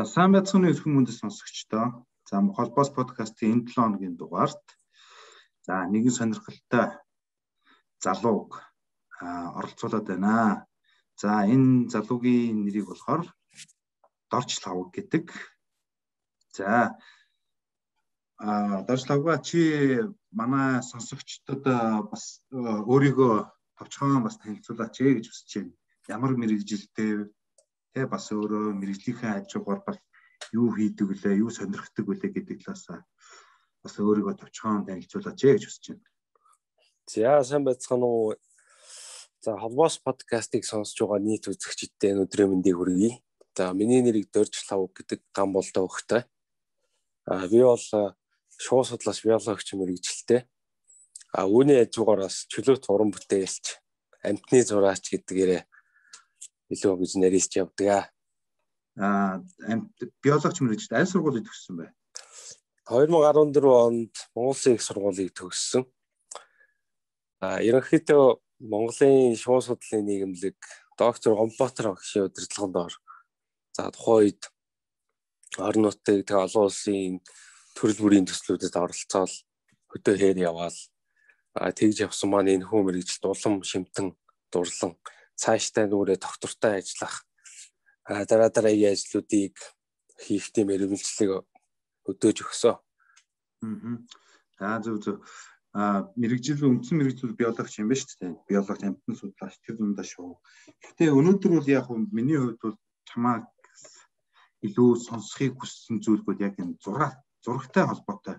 За сайн байцгааны өрхөн мөндөд сонсогчдоо. За холбоос подкастын энэ 7 хоногийн дугаарт за нэгэн сонирхолтой залууг оролцуулаад байна. За энэ залуугийн нэрийг болохоор Дорж Лавг гэдэг. За Дорж Лавга чи манай сонсогчдод бас өөрийгөө товчхон бас танилцуулаач гэж хүсэж байна. Ямар мэрэгжилтэй тэ бас өөрөө мэрэгжлийнхээ ажуугаар бас юу хийдэг вүлээ, юу сонирхдаг вүлээ гэдэг талаас бас өөрийгөө товчхон танилцуулаач гэж хүсэж байна. За сайн байцгаана уу. За холбоос подкастыг сонсож байгаа нийт үзэгчдтэй өдрийн мэндийг хүргэе. За миний нэрийг Дорж Лавг гэдэг ган болтой хөхтэй. Би бол шууд судлаач биологч мэрэгжилтэй. Үүний ажуугаараас чөлөөт уран бүтээлч, амьтны зураач гэдгээрээ илүү гэж нэрийсч явдаг. Биологч мэрэгжилтэй аль сургуулийг төгссөн бэ? 2014 онд Монголын их сургуулийг төгссөн. Ерөнхийдөө Монголын шууд судлалын нийгэмлэг доктор Гомбатар багшийн удирдлаганд ор. За тухайн үед орон нутгийн олон улсын төрөл бүрийн төслүүдэд оролцоод хөдөө хээр яваал. Тэгж явсан маань энэ хүн мэрэгжилт улам шимтэн дурлан цаашдаа нүрээ доктортой ажиллах дараагийн ажлуудыг хийх тийм эрмэлзлийг өдөөж өгсөн. За зөв. Мэрэгжил үндсэн мэрэгжил биологч юм ба шүү дээ. Биологч амьтан судлаач тэр дундаа шүү. Гэхдээ өнөөдөр бол яг миний хувьд бол чамаа илүү сонсохыг хүссэн зүйл бол яг энэ зурагтай холбоотой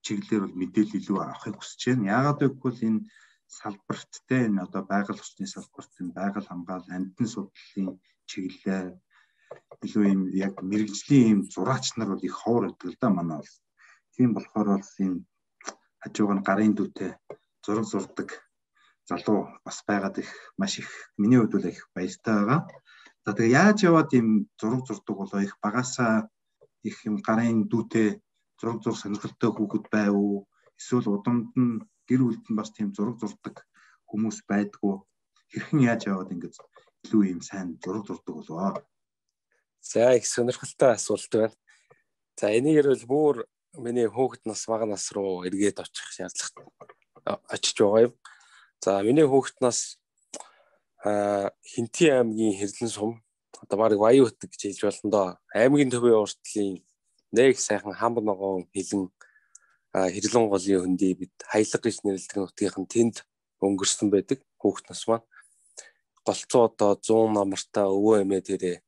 чиглэлээр бол мэдээлэл илүү авахыг хүсэж байна. Яагаад гэвэл энэ салбарт те энэ одоо байгаль орчны салбарт энэ байгаль хамгаалал амьтан судлалын чиглэлээр илүү юм яг мэрэгжлийн юм зураач нар бол их ховор байдаг л да манай бол. Тийм болохоор бол энэ хажууг нь гарын дүүтэй зураг зурдаг залуу бас байгаад их маш их миний хувьд бол их баяртай байгаа. За тэгээ яаж яваад ийм зураг зурдаг болоо их багасаа их юм гарын дүүтэй зураг зурх сонирхолтой хүүхэд байв уу? Эсвэл удамд нь гэр бүлд нь бас тийм зураг зурдаг хүмүүс байдгүй. Хэрхэн яаж яваад ингэж илүү ийм сайн зураг зурдаг болоо? За их сонирхолтой асуулт байна. За энийгээр бол бүр миний хүүхэд нас бага нас руу эргээд очих шаардлага очиж байгаа юм. За миний хүүхэд нас Хинтээ аймгийн Хэрлэн сум одоо баг Баян Хөтөг гэж хэлж болно доо. Аймгийн төвийн уртлын нэг сайхан хамб ногоон хилэн Хэрлэн голын хөндий бид хаялга гэж нэрлэдэг нутгийн тэнд өнгөрсөн байдаг хүүхэд нас маань. Голцоо одоо 100 намартаа өвөө эмээ тэрэ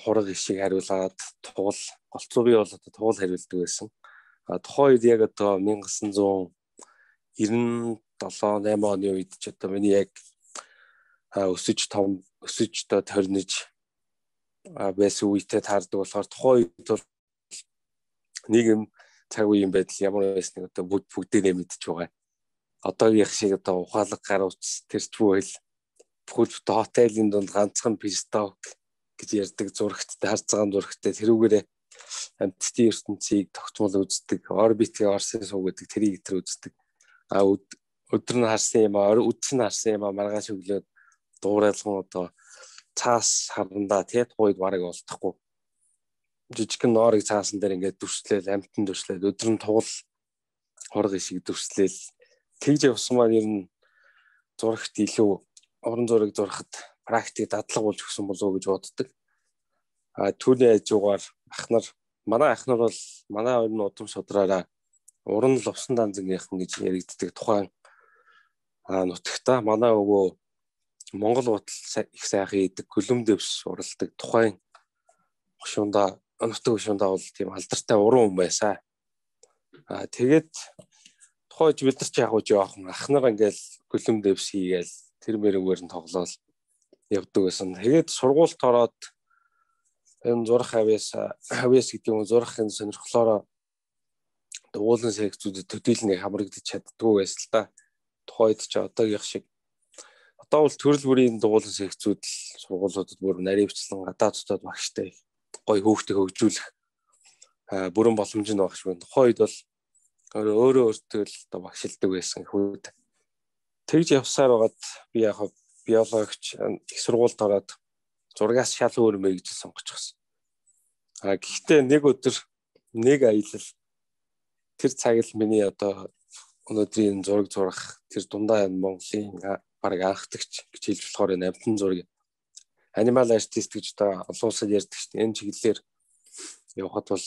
хураг ишиг хариулаад туул голцоо би бол одоо туул хариулдаг байсан. Тухайн үед яг одоо 1997-8 оны үед ч одоо миний яг өсөж торниж байсан үедээ таардаг болохоор тухайн үед бол нийгэм цаг үеийн байдал ямар байсныг одоо бүгдээрээ мэдж байгаа. Одоогийн шиг одоо ухаалаг гар утас тэрч бүэл бүхэл хотелийн дунд ганцхан писток гэж ярьдаг зурагттай харцгаан зурагттай тэрүүгээрээ амьтдын ертөнцийг тогтмол үздэг, орбитгийн орсын суу гэдэг тэрийг үздэг. Өдөр нь харсан юм үдс нь харсан юм маргааш өглөө дуурайлган одоо цаас харандаа тухайд бараг олдохгүй. Жижигхэн ноорыг цаасан дээр ингээд дүрслээл амьтан дүрслээл өдөр нь туул хураг ишиг дүрслээл тэгж явсан маань ер нь зурагт илүү уран зураг зурхад практик дадлаг болж өгсөн болов уу гэж боддог. Түүний хажуугаар манай ахнар бол манай хоёр нь удам шудраараа уран лувсан данзангийнхан гэж яригддаг тухайн нутагта манай өвөө Монгол утал их сайхан идэг гөлөм дэвс уралдаг тухайн нутаг хөшүүндээ бол тийм алдартай уран хүн байсан. Тэгээд тухайд бид нар ч яг жоохон ахнар ингээл гөлөм дэвс хийгээл тэр мэрэгвэр нь тоглоал явдаг байсан. Тэгээд сургуульд ороод энэ зурх хавьяас гэдэг юм зурхын сонирхлоороо уулын секцүүдэд төдийлнийг хамрагдаж чаддгүй байсан л да. Тухайд ч одоогийн шиг одоо бол төрөл бүрийн дуулан секцүүд сургуулиудад бүр наривчлан гадаад дотоод багштай гоё хүүхдийг хөгжүүлэх бүрэн боломж нь багш байна. Тухайд бол өөртөө л одоо багшилдаг байсан хүүд. Тэгж явсаар байгаад би яг биологч их сургуульд ороод зургаас шал өөр мэрэгжил сонгочихсон. Гэхдээ нэг өдөр нэг аялал тэр цаг л миний одоо өнөөдрийн зураг зурах тэр дундаа Монголын баг анхдагч гэж хэлж болохоор энэ амтан зураг анимал артист гэж одоо олон улсад ярьдаг шүү дээ. Энэ чиглэлээр явхад бол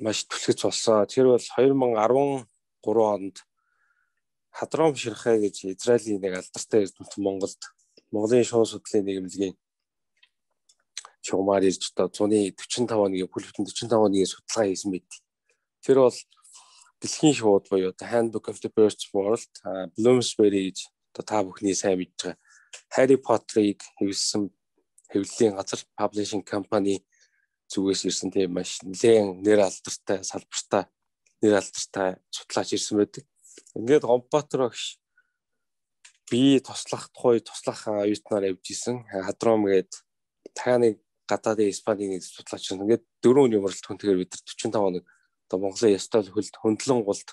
маш түлхэц болсон. Тэр бол 2013 онд Хадром Ширхай гэж Израилийн нэг алдартай эрдэмтэн Монголын шуун судлалын нийгэмлэгийн шугамар ирж одоо 145 оны бүлэгтэн 45 оны судалгаа хийсэн мэт. Тэр бол дэлхийн шууд буюу The Handbook of the Birds World, Bloomsbury гэж одоо та бүхний сайн мэдж байгаа Harry Potter-ыг хэвлэсэн хэвлэлийн газар Publishing Company зүгээс ирсэн тийм маш нэлээд нэр алдартай салбартай нэр алдартай судлаач ирсэн байдаг. Ингээд Гомбатор багш би туслах оюутнаар явж исэн. Хадром гээд таны гадаадын Испанийн судлаач ингээд 4 өдрийн уралд хүнтэйгээр бид 45 хоног одоо Монголын ёстой хөлд хөндлөн гулд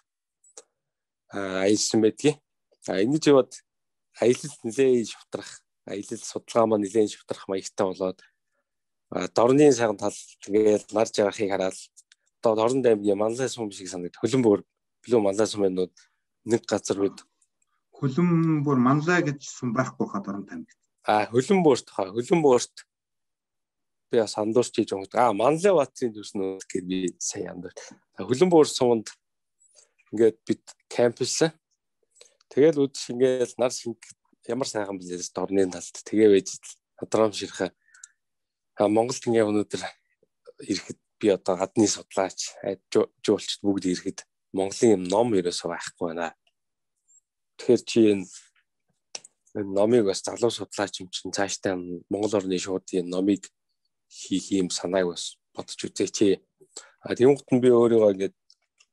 аялсан байдгийг. Ингэж яваад аялал нэлээд шавтрах, аялал судалгаа маань нэлээд шавтрах маягтай болоод дорны сайхан тал тэгээд нар жаргахыг хараад одоо Дорн аймгийн Манлай сум шиг санагдав. Хөлбөмбөр Манлай сумынууд нэг газар бид Хөлбөмбөр Манлай гэж сум байхгүй хаа Дорн аймагт. Хөлбөмбөрт би бас андуурч хийж байгаа. Манлай баатарын төрснөө гэхээр би сайн андуурч. Хөлбөмбөр суманд ингээд бид кампуслаа. Тэгэл үдш ингээд нар шинг ямар сайхан билээс Дорны талд тэгээ байж Хадром Ширхай Монголд ингээд өнөөдөр ирэхэд би одоо гадны судлаач жуулчд бүгд ирэхэд Монголын юм ном ерөөсөө байхгүй байна. Тэгэхээр чи энэ номыг бас залуу судлаач юм чинь цаашдаа Монгол орны шуудын номыг хийх юм санааг бас бодож үзээч. Тэнгуут нь би өөрийгөө ингээд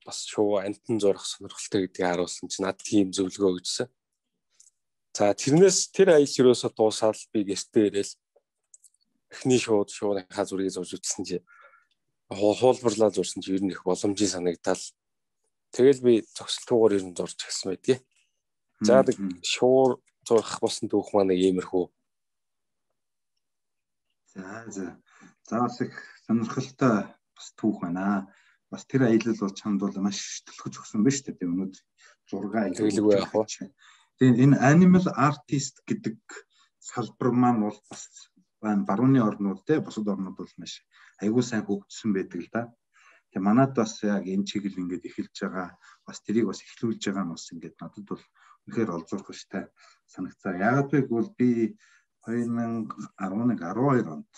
бас шууд амтан зурах сонирхолтой гэдгийг харуулсан чинь над тийм зөвлөгөө өгсөн. За тэрнээс тэр аялал ерөөсөө дуусаад би гэртээ ирээл эхний шуудынхаа зургийг зурж үзсэн чи хуулбарлаа зурсан чи ер нь их боломжийн санагдал. Тэгэл би зогсолтгоор ер нь зурж эхэлсэн байдгийг. За шуур зурах болсон түүх маань иймэрхүү. За бас их сонирхолтой бас түүх байна. Бас тэр аялал бол чамд бол маш төлөвлөж өгсөн байна шүү дээ. Өнөөдөр зураг аялалгүй яах вэ? Тэгээ энэ animal artist гэдэг салбар маань бол бас барууны орнууд те бусад орнууд бол маш аягүй сайн хөгжсөн байдаг л да. Тэгээ манад бас яг энэ чиглэл ингээд эхэлж байгаа бас тэрийг бас эхлүүлж байгаа нь бас ингээд надад бол үнэхээр олзуурхштай санагцаа. Яагаад вэ гэвэл би 2011-12 онд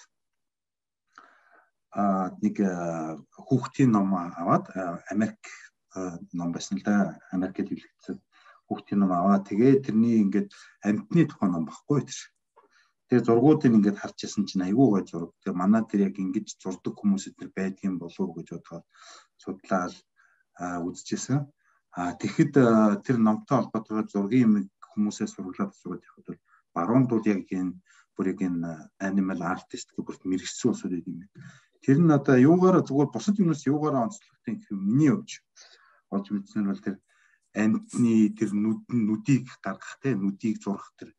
нэг хүүхдийн ном аваад Америк ном байсан л да. Америкт хэвлэгдсэн хүүхдийн ном аваад тэгээ тэрний ингээд амьтны тухайн ном баггүй тэр. Тэгээ зургуудыг ингээд харж ирсэн чинь айгүй гой зураг. Тэгээ манай тэр яг ингэж зурдаг хүмүүс эдгээр байдгийн болов уу гэж бодоод судлаад үзчихсэн. Тэгэхэд тэр номтой холбоотойгоор зургийн хүмүүсээс сурлаад явахад бол баруунд бол яг энэ бүрийг энэ animal artist гэх бүрт мэрэгсэн усуд гэдэг юм. Тэр нь одоо юугаараа зүгээр бусад юмнаас юугаараа онцлогтой гэх юм миний явж олж мэдснээр бол тэр амьтны тэр нүдийг гаргах те нүдийг зурах тэр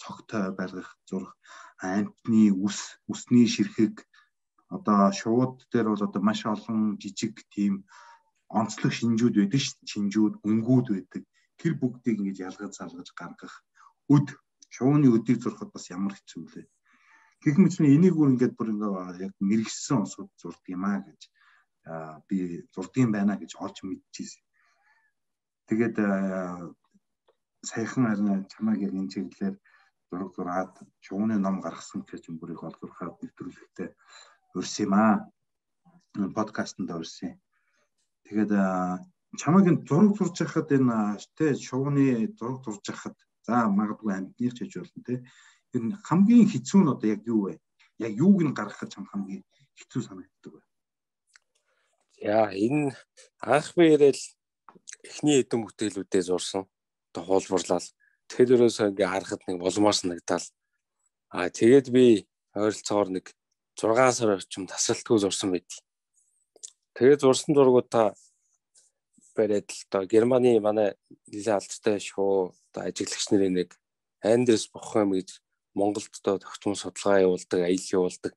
цогтой байлгах зурх амьтны үсний ширхэг одоо шууд дээр бол одоо маш олон жижиг тийм онцлог шинжүүд байдаг шинжүүд өнгүүд байдаг тэр бүгдийг ингэж ялгаж залгаж гаргах шууны өдийг зурхад бас ямар хэцүү вэ гэх мэт энийг бүр ингээд яг мэрэгсэн усуд зурдаг юм аа гэж би зурдаг юм байна гэж олж мэдчихсэн. Тэгээд саяхан харин чамайг яг энэ чиглэлээр зураг зураад шууны ном гаргасан гэж юм бүрийг олзуурхаад нэвтрүүлэгтээ урьсан юм аа. Подкастт урьсан. Тэгээд чамайг энэ зураг зурж байхад энэ тэ шууны зураг зурж байхад за магадгүй амьдных ч гэж болно те. Тэр хамгийн хэцүү нь одоо яг юу вэ? Яг юуг нь гаргахад чам хамгийн хэцүү санагддаг вэ? За энэ анх би ирээл эхний эдэн бүтээлүүдээ зурсан. Хуулбарлал тэр өрөөсөө ингээ харахад нэг болмоор санагдал. Тэгээд би ойролцоогоор нэг 6 сар орчим тасралтгүй зурсан байд. Тэгээд зурсан зургуудаа бариад л доо Германы манай нэлээд алдартай шоу одоо ажиглагч нарын нэг Андрес Бохем гэж Монголд одоо тогтмол судалгаа явуулдаг, аялал явуулдаг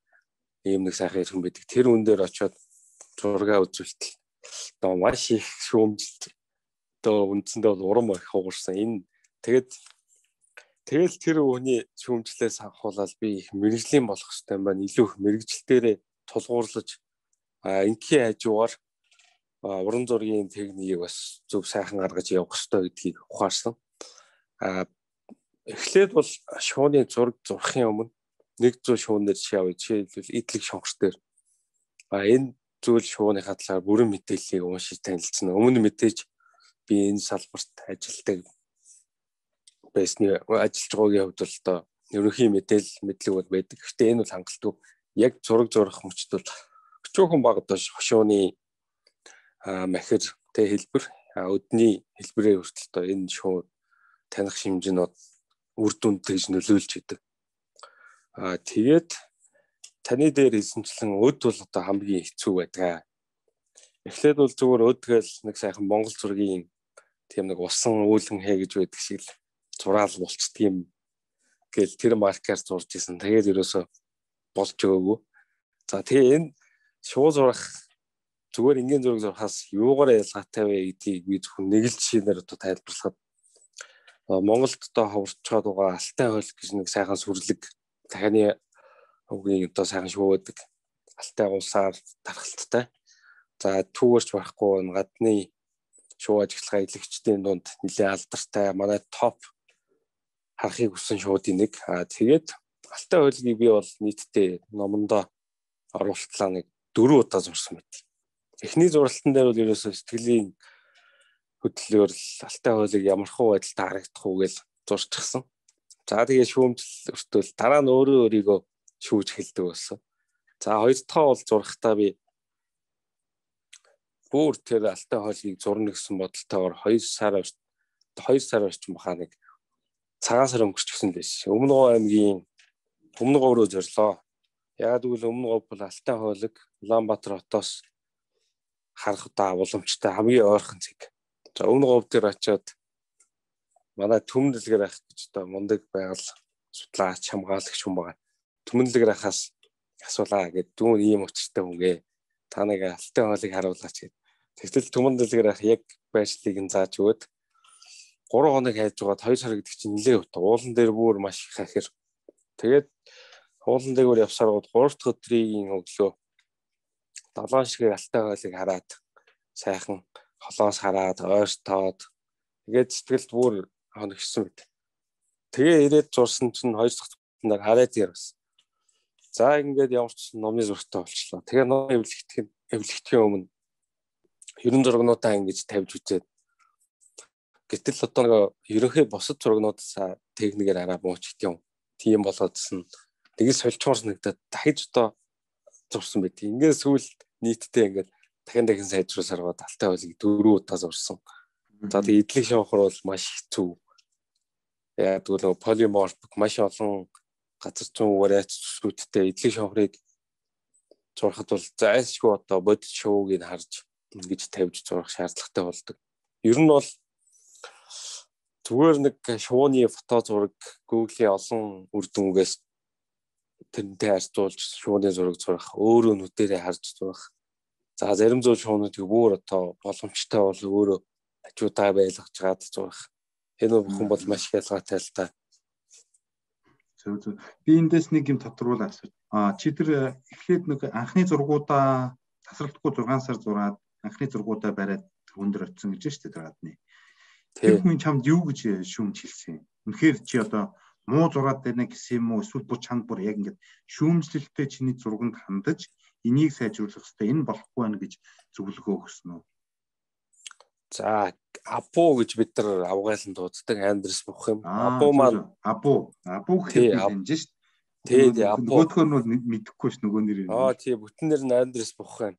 ийм нэг сайхан иргэн байдаг. Тэр үн дээр очиод зураг үзүүлтэл одоо маш их шүүмжилт одоо үндсэндээ бол урам их хугарсан. Энэ тэгэл тэр хүний шүүмжлээс авахуулаад би их мэрэгжлийн болох хэрэгтэй юм байна. Илүү их мэрэгжилтээрээ тулгуурлаж ингийн хажуугаар уран зургийн техникийг бас зөв сайхан гаргаж явах хэрэгтэй гэдгийг ухаарсан. Эхлээд бол шууны зураг зурхын өмнө 100 шуунаар жишээлбэл идэлэг шонгор дээр энэ зүйл шууныхаа талаар бүрэн мэдээллийг уншиж танилцсан. Өмнө мэдээж би энэ салбарт ажилладаг байсны ажиллаж байгаагийн хувьд бол одоо ерөнхий мэдлэг бол байдаг. Гэхдээ энэ бол хангалтгүй. Яг зураг зурах мөчд бол өчүүхэн баг одоо шууны махир хэлбэр өдний хэлбэрээр хүртэл одоо энэ шуу таних шимжнүүд үр дүнд тэгж нөлөөлж идэг. Тэгээд таны дээр хэлсэнчлэн өд бол одоо хамгийн хэцүү байдаг. Эхлээд бол зүгээр өдгөл нэг сайхан Монгол зургийн тийм нэг усан үүлэн хээ гэж байдаг шиг л зураал болцдөг юм гэл тэр маркаар зурж исэн. Тэгээд ерөөсө болж өгөөгүй. За тэгээ энэ шуу зурах зүгээр энгийн зураг зурхаас юугаар ялгаатай вэ гэдгийг би зөвхөн нэг л жишээнээр одоо тайлбарлахад Монголд одоо ховорч байгаа Алтай хойл гэж нэг сайхан сүрлэг дахины үгийн одоо сайхан шуу байдаг. Алтай улсаар тархалттай. За түүгээрч байхгүй гадны шуу ажиглагаа илэгчдийн дунд нэлээд алдартай манай топ харахыг хүссэн шуудын нэг. Тэгээд Алтай хойлыг би бол нийтдээ номондоо оруултлаа нэг 4 удаа зурсан байт. Эхний зуралтан дээр бол ерөөсөө сэтгэлийн хөдлөлөөр л Алтай хойлыг ямархуу байдалтай харагдах уу гэж зурчихсан. За тэгээ шүүмжил өртөөл дараа нь өөрийгөө шүүж хэлдэг болсон. За хоёр дахь бол зурхтаа би бүр тэр Алтай хойлыг зурна гэсэн бодолтойгоор 2 сар орчим бахаа нэг цагаан сар өнгөрчихсөн лээс. Өмнө Говь аймгийн Өмнө Говь руу зорлоо. Яг тэгвэл Өмнө Говь бол Алтай хойлыг Улаанбаатар хотоос харах удаа уламжтай хамгийн ойрхон зэг. За Өмнө Говь дээр очиод манай Түмэнлэгээр ах гэж одоо мундаг байгаль судлаач хамгаалагч хүн байгаа. Түмэнлэгээр ахаас асуулаа гэд дүүн ийм учиртай хүнгээ та нэг Алтай хойлыг харуулаач гэд. Тэгтэл Түмэнлэгээр ах яг байршлыг нь зааж өгöd 3 хоног хайж байгаад 2 сар гэдэг чинь нэлээд утга. Уулан дээр бүр маш их хахир. Тэгээд уулан дээр явсаар гол 3 дахь өдрийн өглөө долоон шиг Алтай хойлыг хараад сайхан холоос хараад ойртоод тэгээд сэтгэлд бүр хоногсон мэт. Тэгээ ирээд зурсан чинь 2 дахь өдрөнд хараад ярсан. За ингээд ямар ч номны зургтай болчлоо. Тэгээ ном эвлэгдэхийн өмнө ерөн зургнуудаа ингэж тавьж үзээд гэтэл одоо нэг ерөнхий бусад зургнуудаа техникээр араа мууч гэдэг юм. Тийм болоодсэн. Тэгээс сольчмоор санагдаад дахиж одоо зурсан байт. Ингээд сүүлд нийтдээ ингээд дахин сайжруулсаар гоо Алтай хойлыг 4 удаа зурсан. За тэгээ идэлэг шонхор бол маш хэцүү. Яг тэгвэл полиморфик маш олон газар зүүн вариац зүсгүүдтэй идэлэг шонхорыг зурхад бол зайлшгүй одоо бодит шууг нь харж ингэж тавьж зурах шаардлагатай болдог. Ер нь бол зүгээр нэг шууны фото зураг Google-ийн олон үр дүнгээс тэрнтэй харьцуулж шууны зураг зурах, өөрөө нүдэрээ харж зурах. За зарим зүйл шуунуудыг бүр одоо боломжтой бол өөрөө хажуудаа байлгаж чад зурах. Энэ бүхэн бол маш их ялгаатай л та. Зөв. Би эндээс нэг юм тодруулаад асууж. Чи тэр эхлээд нэг анхны зургуудаа тасралтгүй 6 сар зураад анхны зургуудаа бариад өндөр очсон гэж шүү дээ тэр гадны. Тэр хүн чамд юу гэж шүүмж хэлсэн? Үнэхээр чи одоо муу зураад байна гэсэн юм уу? Эсвэл бүр чанд бүр яг ингэж шүүмжлэлтэй чиний зурганд хандаж энийг сайжруулах хэрэгтэй. Энэ болохгүй байна гэж зөвлөгөө өгсөн үү? За Апу гэж бид нар авгаалan дууддаг Андрес бох юм. Апу маань Апу гэхэд юм шүү дээ. Тий Апу. Нөгөөх нь бол мэдэхгүй ш нөгөө нэр юм. Тий бүтэн нэр нь Андрес бох юм.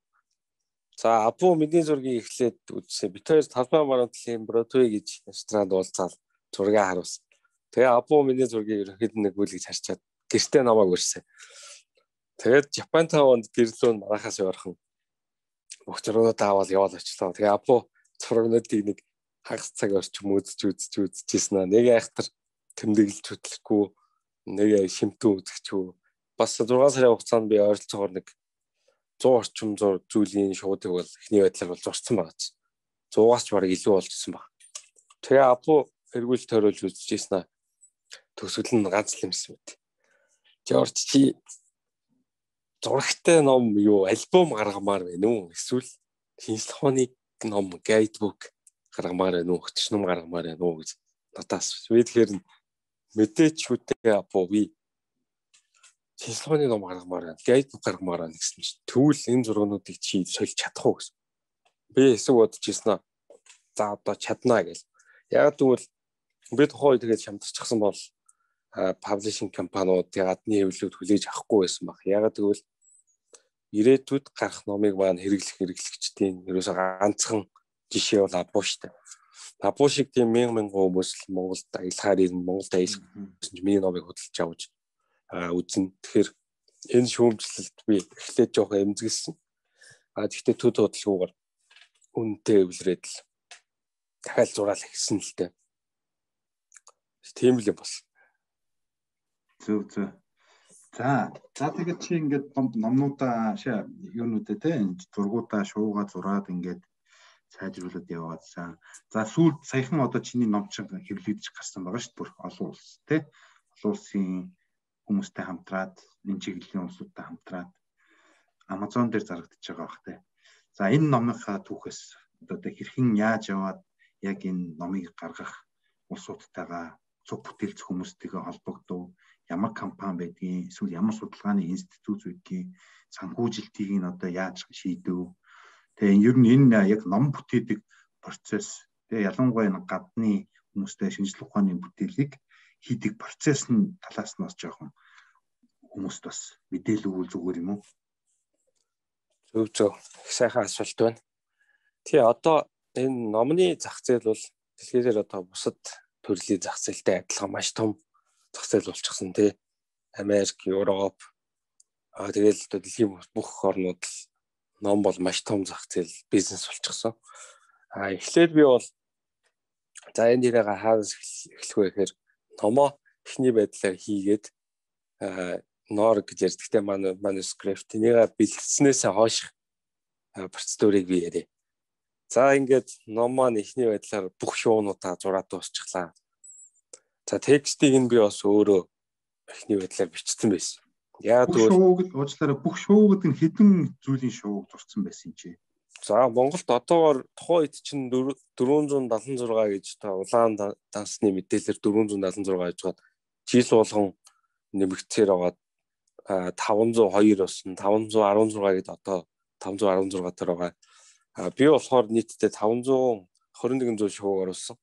За Апу мэдээ зургийг эхлээд үзсэн. Бид хоёр талбай марантлын Бродвей гэж ресторанд уулзаад зургийг харуулсан. Тэгээ Апу мэдээ зургийг ерөнхийд нэг бүлгэж харчаад гэртээ намайг өрсөн. Тэгээд Japan Town-д гэрлүүн манахаас ойрхон бүх зургуудаа аваад яваад очлоо. Тэгээ Апу зургуудыг нэг хагас цаг орчим үзчихсэн аа. Нэг айхтар тэмдэглэж хөтлөхгүй нэг шимтэн үзэгчүү бас 6 сарын хугацаанд би ойролцоогоор нэг 100 орчим зүйлийн шуудыг бол эхний байдлаар бол зурсан байгаа ч 100-аас ч бараг илүү болжсэн баг. Тэгээ апу эргүүлж тойруулж үзчихсэн аа. Төсөл нь ганц л юмсан мэт. Жорж чи зурагтай ном юу альбом гаргамаар байна уу? Эсвэл шинжлэх ухааны ном гайдбук гаргамаар байна уу? Хөтөч ном гаргамаар байна уу гэж надаас. Би тэгэхээр мэдээч шүтээ апу би шинжлэх ухааны ном гаргамаар байна. Гайдбук гаргамаар байна гэсэн чинь тэгвэл энэ зургуудыг чи сольж чадах уу гэсэн. Би эсэг бодож ирсэн аа. За одоо чаднаа гэл. Яг тэгвэл би тухайн үед тэгээд шамтарчихсан бол паблишинг компаниуд гадны хэвлэлүүд хүлээж авахгүй байсан баг. Яг тэгвэл ирээдүйд гарах номыг маань хэрэглэгчдийн ерөөсөө ганцхан жишээ бол Апу штэ. Апу шиг тийм мянган хүмүүс Монголд аялахаар ирнэ, Монголд аялах гэсэн чинь миний номыг худалдаж авч үзэн. Тэгэхээр энэ шүүмжлэлт би эхлээд жоох эмзэглсэн. Тэгэхдээ төд хөдөлгүүгээр үнэтэй эвлэрээд л дахиад зураал ихсэн л дээ. Тийм л юм бол. Зөв. За тэгээд чи ингээд номнуудаа юунуудаа те зургуудаа шуугаа зураад ингээд сайжруулад яваад за сүүлд саяхан одоо чиний ном чинь хэвлэгдэж гарсан байгаа шүү дээ. Бүр олон улс те олон улсын хүмүүстэй хамтраад энэ чиглэлийн улсуудтай хамтраад Amazon дээр зарагдчихж байгаа бах те. За энэ номынхаа түүхээс одоо хэрхэн яаж яваад яг энэ номыг гаргах улсуудтайгаа цуг бүтээлч хүмүүстэйгээ холбогдов, ямар компани байдгийг, эсвэл ямар судалгааны институт байдгийг, санхүүжилтийг нь одоо яаж шийдэв. Тэгээ ер нь энэ яг ном бүтээдэг процесс, тэгээ ялангуяа энэ гадны хүмүүстэй шинжлэх ухааны бүтээлийг хийдэг процесс нь талаас нь бас жоохон хүмүүст бас мэдээлэл өгвөл зүгээр юм уу? Зөв. Их сайхан асуулт байна. Тэгээ одоо энэ номны зах зээл бол дэлхийдээр одоо бусад төрлийн зах зээлтэй адилхан маш том зах зээл болчихсон тий. Америк, Европ тэгэл дэлхийн бүх орнууд ном бол маш том зах зээл бизнес болчихсон. Эхлээд би бол за энэ дээрээ хаанаас эхлэх вэ гэхээр номоо эхний байдлаар хийгээд нор гэж ярьдагтай манускрипт энийг бэлтгэснээс хойш процедурыг би яриа. За ингээд ном маань эхний байдлаар бүх шуунуудаа зураад дуусчихлаа. За текстийг нь би бас өөрөө эхний байдлаар бичсэн байсан. Яг тэгвэл уучлаарай бүх шуу гэдэг нь хэдэн зүйлийн шууг зурсан байсан чи. За Монголд одоогоор тухайн үед чинь 476 гэж та улаан дансны мэдээлэлээр 476 гэж байгаа. Жил болгон нэмэгдсээр байгаа 502 болсон 516 гэд одоо 516 төр байгаа. Би болохоор нийтдээ 521 зүйл шууг оруулсан.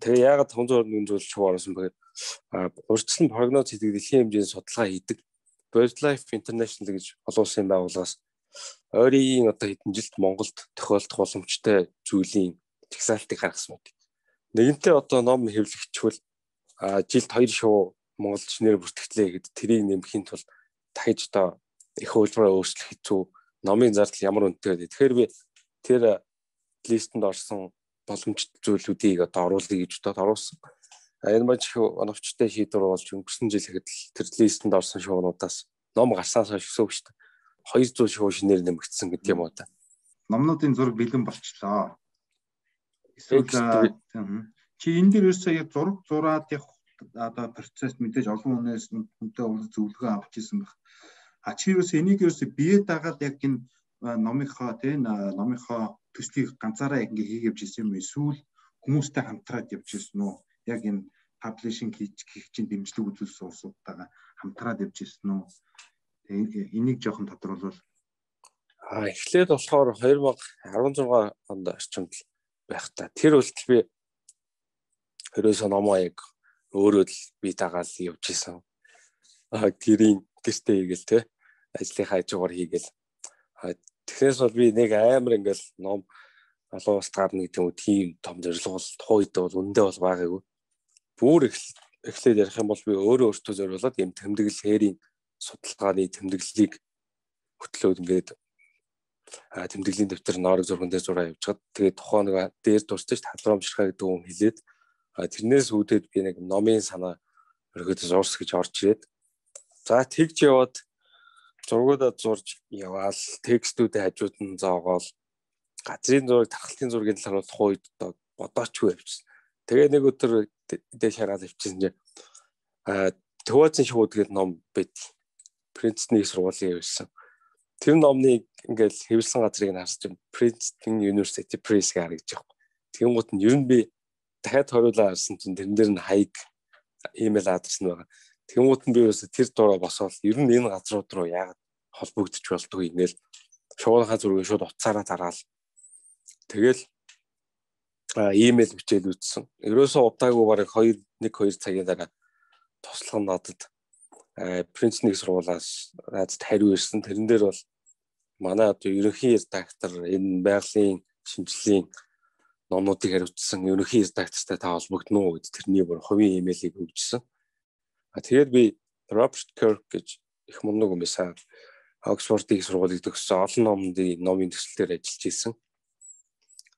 Тэгээ яагаад 521 зүйл шууг оруулсан бэ? Урьдчилан прогноз хийдэг дэлхийн хэмжээний судалгаа хийдэг BirdLife International гэж олон улсын байгууллагаас ойрын одоо хэдэн жилд Монголд тохиолдох боломжтой зүйлийн жагсаалтыг гаргасан мэт. Нэгэнтээ одоо ном хэвлэгчвэл жилд 2 шуу монголч нэр бүртгэлээ гэд тэрийг нэмэхийн тулд дахиж одоо их хөлбөрөөр өөрчлөх хэцүү. Номын зардал ямар үнэтэй вэ? Тэгэхээр би тэр листэнд орсон боломжтой зүйлүүдийг одоо оруулъя гэж бодоод оруулсан. Энэ маш оновчтой шийдвэр болж өнгөрсөн жил ихэд тэр листэнд орсон шуунуудаас ном гарсаас хойш өсөв шүү дээ. 200 шуу шинээр нэмэгдсэн гэдэг юм уу та. Номнуудын зураг бэлэн болчлоо. Эсвэл чи энэ дээр ерөөсөө зураг зураад явах одоо процесс мэдээж олон хүнээс хүнтэй зөвлөгөө авч ирсэн байх. Чи ерөөсөө энийг ерөөсөө бие дагаад яг энэ номынхоо төслийг ганцаараа яг ингээ хийгээвч ирсэн юм эсвэл хүмүүстэй хамтраад явж ирсэн үү? Яг энэ паблишинг хийх чинь дэмжлэг үзүүлсэн улсуудтайгаа хамтраад явж ирсэн үү? Энийг жоохон тодруулбал. Эхлээд болохоор 2016 онд орчимд байх та. Тэр үлдэл би ерөөсөө номоо яг өөрөө л бие дагаад явж ирсэн. Тэрийн гэртээ хийгээл те ажлынхаа хажуугаар хийгээл. Тэгээс бол би нэг амар ингээл ном олон улсад гарна гэдэг юм тийм том зорилго бол тухайн үед бол үндэ бол байгаагүй. Бүр эхлээд ярих юм бол би өөртөө зориулаад юм тэмдэглэл хээрийн судалгааны тэмдэглэлийг хөтлөөд ингээд тэмдэглэлийн дэвтэр норог зурган дээр зураа явуулчихад тэгээд тухайн нэг дээр дурсаж талбарамжрахаа гэдэг үг хэлээд тэрнээс үүдээд би нэг номын санаа Өргөд зурс гэж орж ирээд. За тэгж яваад зургуудаа зурж яваал текстүүдээ хажууд нь зоогоол газрын зураг, тархалтын зургийн талаар бол тухайд бодоочгүй явчихсан. Тэгээ нэг өдөр дээш хараад явчихсан чинь Төвөөцөн шууд гэдэг ном байд. Принстон сургуулийн явсан. Тэр номны ингээл хэвлсэн газрыг нь харж Princeton University Press гэж байгаа. Тэнгуут нь ер нь би дахиад хориулаа харсан чинь тэрэн дээр нь хаяг имэйл адрес нь байгаа. Тэнгуут нь би ерөөсө тэр дураа босоод ер нь энэ газрууд руу яагаад холбогдож болдгоо ингээл шуурхаа зургийг шууд утсаараа дараал. Тэгэл имэйл бичээл үзсэн. Ерөөсө удаагүй бараг 1-2 цагийн дараа туслах нь надад Принстон сургуулиас надад хариу ирсэн. Тэрэн дээр бол манай одоо ерөнхий редактор энэ байгалийн шинжилгээний номнуудыг хариуцсан ерөнхий редактортай та холбогдно уу гэд тэрний бүр хувийн имэйлийг өгчсөн. Тэгээд би Роберт Кёрк гэж их мундаг юм байсан. Оксфордын сургуулийг төгссөн олон номын төслөөр ажиллаж исэн.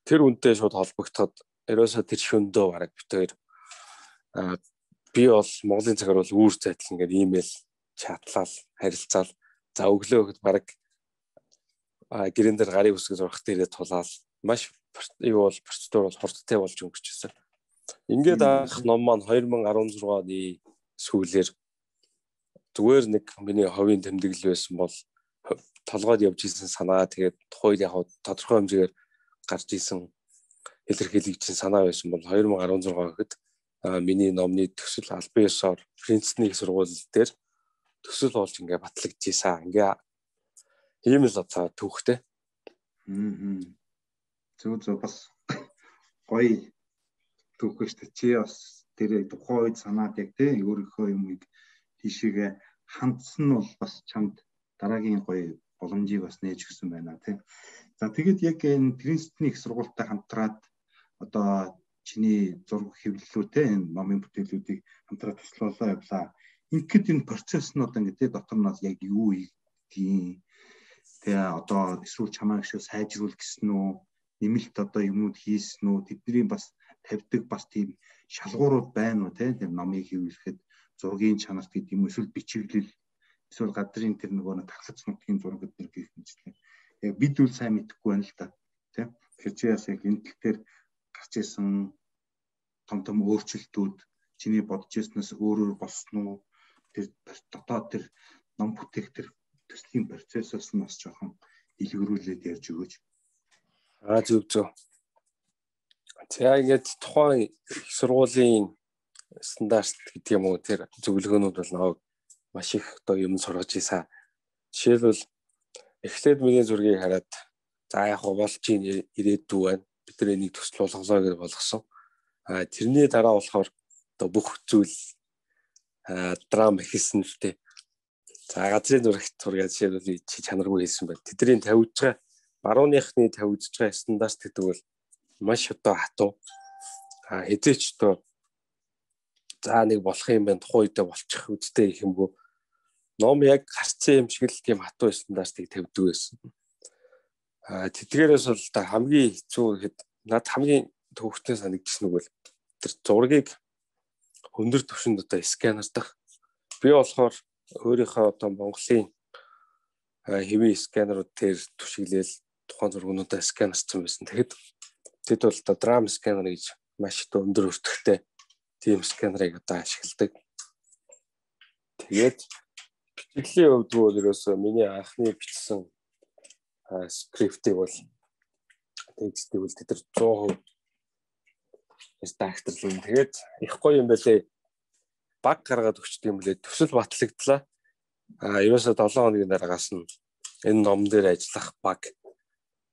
Тэр үнтэй шууд холбогдоход ерөөсөө тэр шөндөө бараг битээр би бол Монголын цагаар бол үүр зайтал ингээд имэйл чатлал харилцаал за өглөө гэхэд бараг гэрэн дээр гарын үсэг зурх дээрээ тулаал маш юу бол процедур бол хурдтай болж өнгөрчихсөн. Ингээд анх ном маань 2016 оны сүүлээр зүгээр нэг миний ховын тэмдэглэл байсан бол толгойд явж исэн санаа тэгээд тухайд яг тодорхой хэмжээгээр гарч исэн илэрхийлэгдсэн санаа байсан бол 2016 гэхэд миний номны төсөл албан ёсоор Принстон сургууль дээр төсөл болж ингээ батлагдчихсан. Ингээ ийм л одоо түүхтэй. Зөв бас гоё түүхээ шүү дээ. Чи бас тэр тухайн үед санаад яг тий өөрийнхөө юмыг тийшээгээ хандсан нь бол бас чамд дараагийн гоё боломжийг бас нээж өгсөн байна тий. За тэгээд яг энэ Принстон сургуультай хамтраад одоо чиний зураг хэвлэлүүтэй энэ номын бүтээлүүдийг хамтраад туслуулаа явлаа. Ингээд энэ процесс нь одоо ингээд дотор нь яг юу ийгдгийг тэгээ одоо эсвэл чамайг шүү сайжруул гэсэн үү, нэмэлт одоо юмуд хийсэн үү, тэдний бас тавьдаг бас тийм шалгуурууд байна уу те номыг хэвлэхэд зургийн чанарт гэдэг юм эсвэл бичиглэл эсвэл гадрын тэр нөгөө тархац нутгийн зураг гэдэг гэх мэтлээ. Яг бид үл сайн мэдэхгүй байна л да. Тэ. Тэгэхээр чи яс яг энэ тал дээр гарч исэн том өөрчлөлтүүд чиний бодож ирснээс өөрөөр болсон уу? Тэр дотоод тэр ном бүтээх тэр төслийн процессоос нь бас жоохон дэлгэрүүлээд ярьж өгөөч. Зөв. За ингээд тухайн их сургуулийн стандарт гэдэг юм уу тэр зөвлөгөөнүүд бол нэг маш их одоо юм сургаж ийсэн. Жишээлбэл эхлээд миний зургийг хараад за яг болж ирээдүй байна. Бид нар энийг төсөл болгосоо гэж болгосон. Тэрний дараа болохоор одоо бүх зүйл драм хийсэн л дээ. За газрын зураг жишээлбэл чи чанаргүй хийсэн байна. Тэдний тавьж байгаа барууныхны тавьж байгаа стандарт гэдэг бол маш одоо хатуу. Хэзээч одоо за нэг болох юм байна тухайн үедээ болчих үедээ их юмгүй. Ном яг гарцсан юм шиг л тийм хатуу стандартыг тавьдаг байсан. Тэдгээрээс бол та хамгийн хэцүү гэхэд над хамгийн төвхтэй санагдсан үг бол тэр зургийг өндөр түвшинд одоо сканердах. Би болохоор өөрийнхөө одоо Монголын хэвийн сканерууд дээр түшиглээл тухайн зургуудаа сканерцсан байсан. Тэгэхэд тэд бол одоо драм сканер гэж маш их өндөр өртөгтэй тийм сканерыг одоо ашигладаг. Тэгээд бичиглийн хувьд бол ерөөсөө миний анхны бичсэн скриптийг бол текстийг бол тэд 100% редакторлын. Тэгээд их гоё юм байлээ. Баг гаргаад өгчдөг юм лээ. Төсөл батлагдлаа. Ерөөсөө 7 хоногийн дараагаас нь энэ ном дээр ажиллах баг.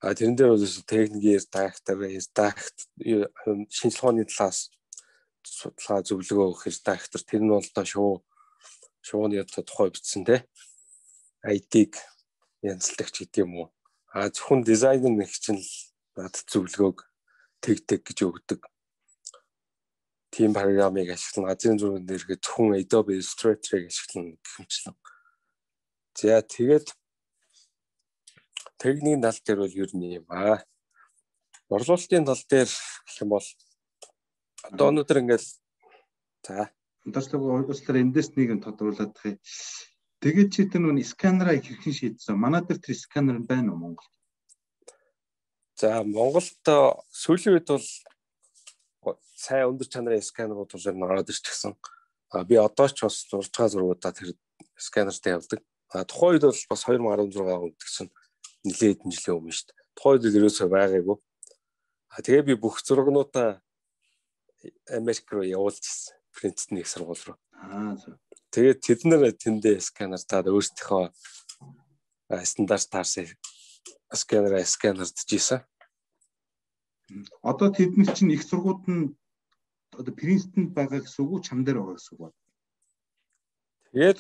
Тэрэн дээр бол техникийн редактор, шинжилгээ ухааны талаас судалгаа зөвлөгөө өгөх редактор. Тэр нь бол одоо шууны тухай бичсэн те. IT-г янзлагдагч гэдэг юм уу. Зөвхөн дизайнер нэг чинь надад зөвлөгөөг тэг гэж өгдөг. Тийм програмыг ашиглан газрын зургийн дээрээ зөвхөн Adobe Illustrator-ыг ашиглан гэмчлэн. За тэгээд техникийн тал дээр бол ер нь юм борлуулалтын тал дээр гэх юм бол одоо өнөөдөр ингээл за Удаашлага уучлаарай эндээс нэг нь тодруулаад тахыг. Тэгээд чи тэр нүн сканераа хэрхэн шийдсэн? Манай дээр тэр сканер байна уу Монголд? За Монголд сүүлийн үед бол сайн өндөр чанарын сканерууд бол ороод ирчихсэн. Би одоо ч бас зурж байгаа зургуудаа тэр сканертай явдаг. Тухайн үед бол бас 2016 онд гэсэн нэлээд хэдэн жилийн өмнө шүү дээ. Тухайн үед ерөөсөө байгаагүй. Тэгээ би бүх зургнуудаа Америк руу явуулж ирсэн. Принцтон их сургууль руу. Тэгээд тэд нэр тэндээ сканертаад өөрсдийнхөө стандарт таарсан сканердж ийсэн. Одоо тэдний чинь их сургууд нь одоо Принстонд байгаа гэсэн үг үү, чам дээр байгаа гэсэн үг байна. Тэгээд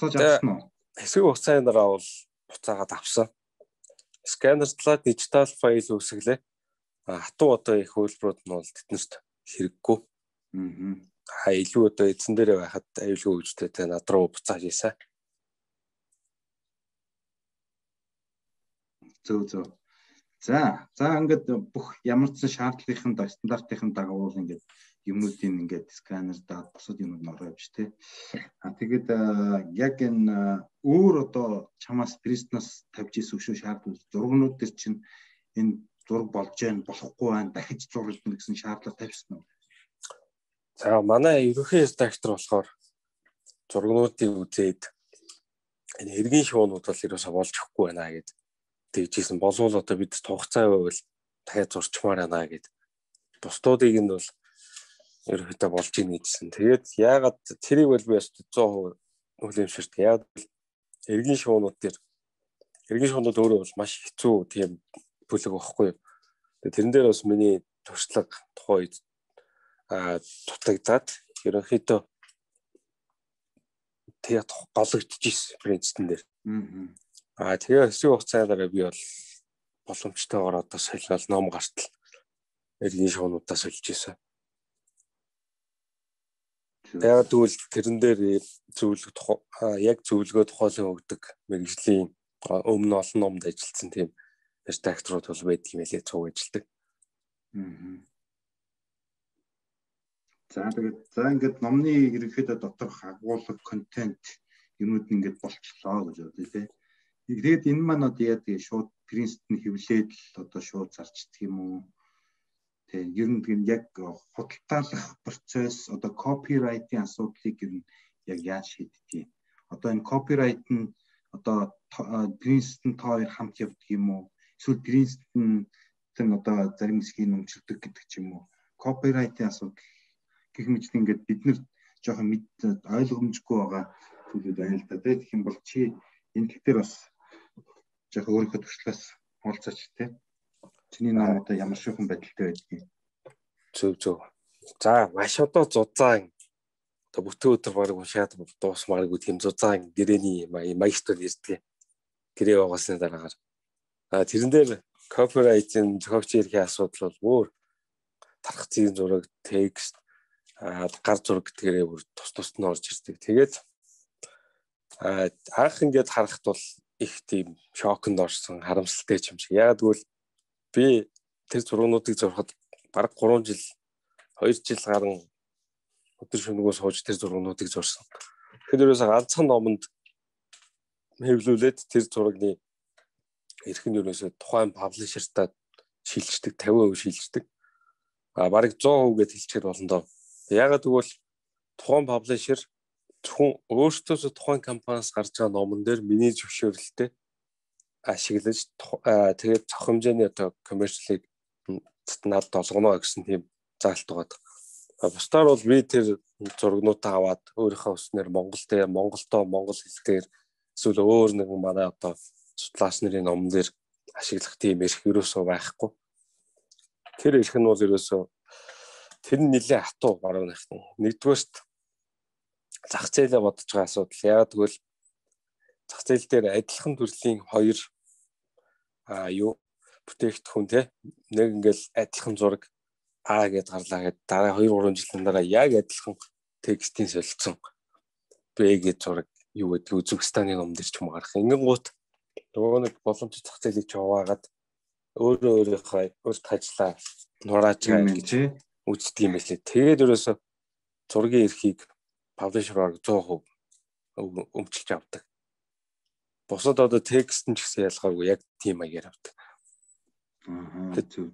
хэсэг хугацаанаар бол буцаагаад авсан. Сканертлаад дижитал файл үүсгэлээ. Хатуу одоо их хөлбөрүүд нь бол тэднэрт хэрэггүй. Илүү одоо эзэн дээрээ байхад аюулгүй үжтэй над руу буцааж ийсэн. Зөв. За ингээд бүх ямар ч шаардлагын стандартын дагуу ингээд юмнуудын ингээд сканер даад бусад юмуд нь ороо явж тээ. Тэгээд яг энэ өөр одоо чамаас Принстоноос тавьж ийсэн шүү шаардлага зургнууд төр чинь энэ зураг болж байна болохгүй байна дахиж зурагдана гэсэн шаардлага тавьсан уу? За манай ерөнхий редактор болохоор зургнуудыг үзээд энэ эргийн шуунууд бол ерөөсөө болж өгөхгүй байна гэд тэгжсэн болвол одоо бид хугацаа байвал дахиад зурчмаар байна гэд бусдуудыг нь бол ерөөхдөө болж ийн гэдсэн. Тэгээд яагаад тэрийг бол би 100% хүлээмжшэрдэг. Яг эргийн шуунууд өөрөө бол маш хэцүү тийм бүлэг байхгүй. Тэгээд тэрэн дээр бас миний туршлага тухайн үед дутагдаад ерөнхийдөө тэгээд гологдчихсэн Принстон дээр. Тэгээ хэсэг хугацаагаар би бол боломжтойгоор одоо солиол ном гартал эргийн шуунуудаа сольж ийсэн. Тэгээд тэгвэл тэрэн дээр яг зөвлөгөө тухайлан өгдөг мэргэжлийн өмнө олон номд ажилласан тийм редакторууд бол байдаг юм элэ цуг ажилдаг. За ингээд номны ерөнхийдөө доторх агуулга контент юмуд ингээд болчлоо гэж бодъё тий. Тэгээд энэ маань одоо яа тэгээ шууд Принстон хэвлээд л одоо шууд зарчдаг юм уу? Тэг ер нь яг худалдаалах процесс одоо копирайтын асуудлыг ер нь яг яаж шийддэг юм? Одоо энэ копирайт нь одоо Принстон хоёр хамт явдаг юм уу? Эсвэл Принстон одоо зарим хэсгийг нөмчилдөг гэдэг ч юм уу? Копирайтын асуудал гэх мэт ингээд бид нэр жоохон ойлгомжгүй байгаа зүйлүүд байна л да. Тэгэх юм бол чи энэ дээр бас жоохон өөрийнхөө туршлагаас уулзаач тий. Чиний ном одоо ямар шүүхэн байдалтай байдгийг. Зөв. За маш одоо зузаан одоо бүтэн өдөр баг уншаад дуусмааргүй тийм зузаан гэрээний маягтал ирдэг. Гэрээ угаасны дараагаар. Тэрэн дээр копирайтын зохиогч эрхийн асуудал бол өөр тархацын зураг, текст, гар зураг гэдгээрээ бүр тус нь орж ирдэг. Тэгээд анх ингээд харахад бол их тийм шоконд орсон, харамсалтай юм шиг. Яг тэгвэл би тэр зургуудыг зурхад бараг 3 жил 2 жил гарan өдөр шөнөгөө сууж тэр зургуудыг зурсан. Тэгэхээр ерөөсөө ганцхан номонд хэвлүүлээд тэр зургийн эрх нь ерөөсөө тухайн паблишертаа шилждэг 50% шилждэг. Бараг 100% гэж хэлчихээр болно доо. Ягаад гэвэл тухайн паблишер зөвхөн өөртөөсөө тухайн компаниас гарч байгаа номон дээр миний зөвшөөрлөлтөй ашиглаж тэгээд цох хэмжээний одоо коммерчлыг надад олгоно гэсэн тийм заалт байгаа. Бусдаар бол би тэр зургнуудаа аваад өөрийнхөө өснөр Монгол хэлээр эсвэл өөр нэгэн манай одоо судлаач нарын номон дээр ашиглах тийм эрх ерөөсөө байхгүй. Тэр эрх нь бол ерөөсөө тэр нь нэлээд хатуу баруун ихтэн. Нэгдүгээрт зах зээлээ бодож байгаа асуудал. Яагаад гэвэл зах зээл дээр адилхан төрлийн хоёр бүтээгдэхүүн те нэг ингээл адилхан зураг А гэдээ гарлаа гэдэг дараа 2-3 жилийн дараа яг адилхан текстийн солилцсон Б гэдэг зураг юу гэдэг Үзбекистаны ном дээр ч юм гарах. Ингэнгუут нөгөө нэг боломжтой зах зээлийг ч хуваагаад өөрийнхөө ажиллаа нурааж байгаа гэж үздэг юм байлээ. Тэгээд ерөөсө зургийн эрхийг паблишераар 100% өмчилж авдаг. Бусад одоо текст нь ч гэсэн ялгаагүй яг тийм маягаар авдаг.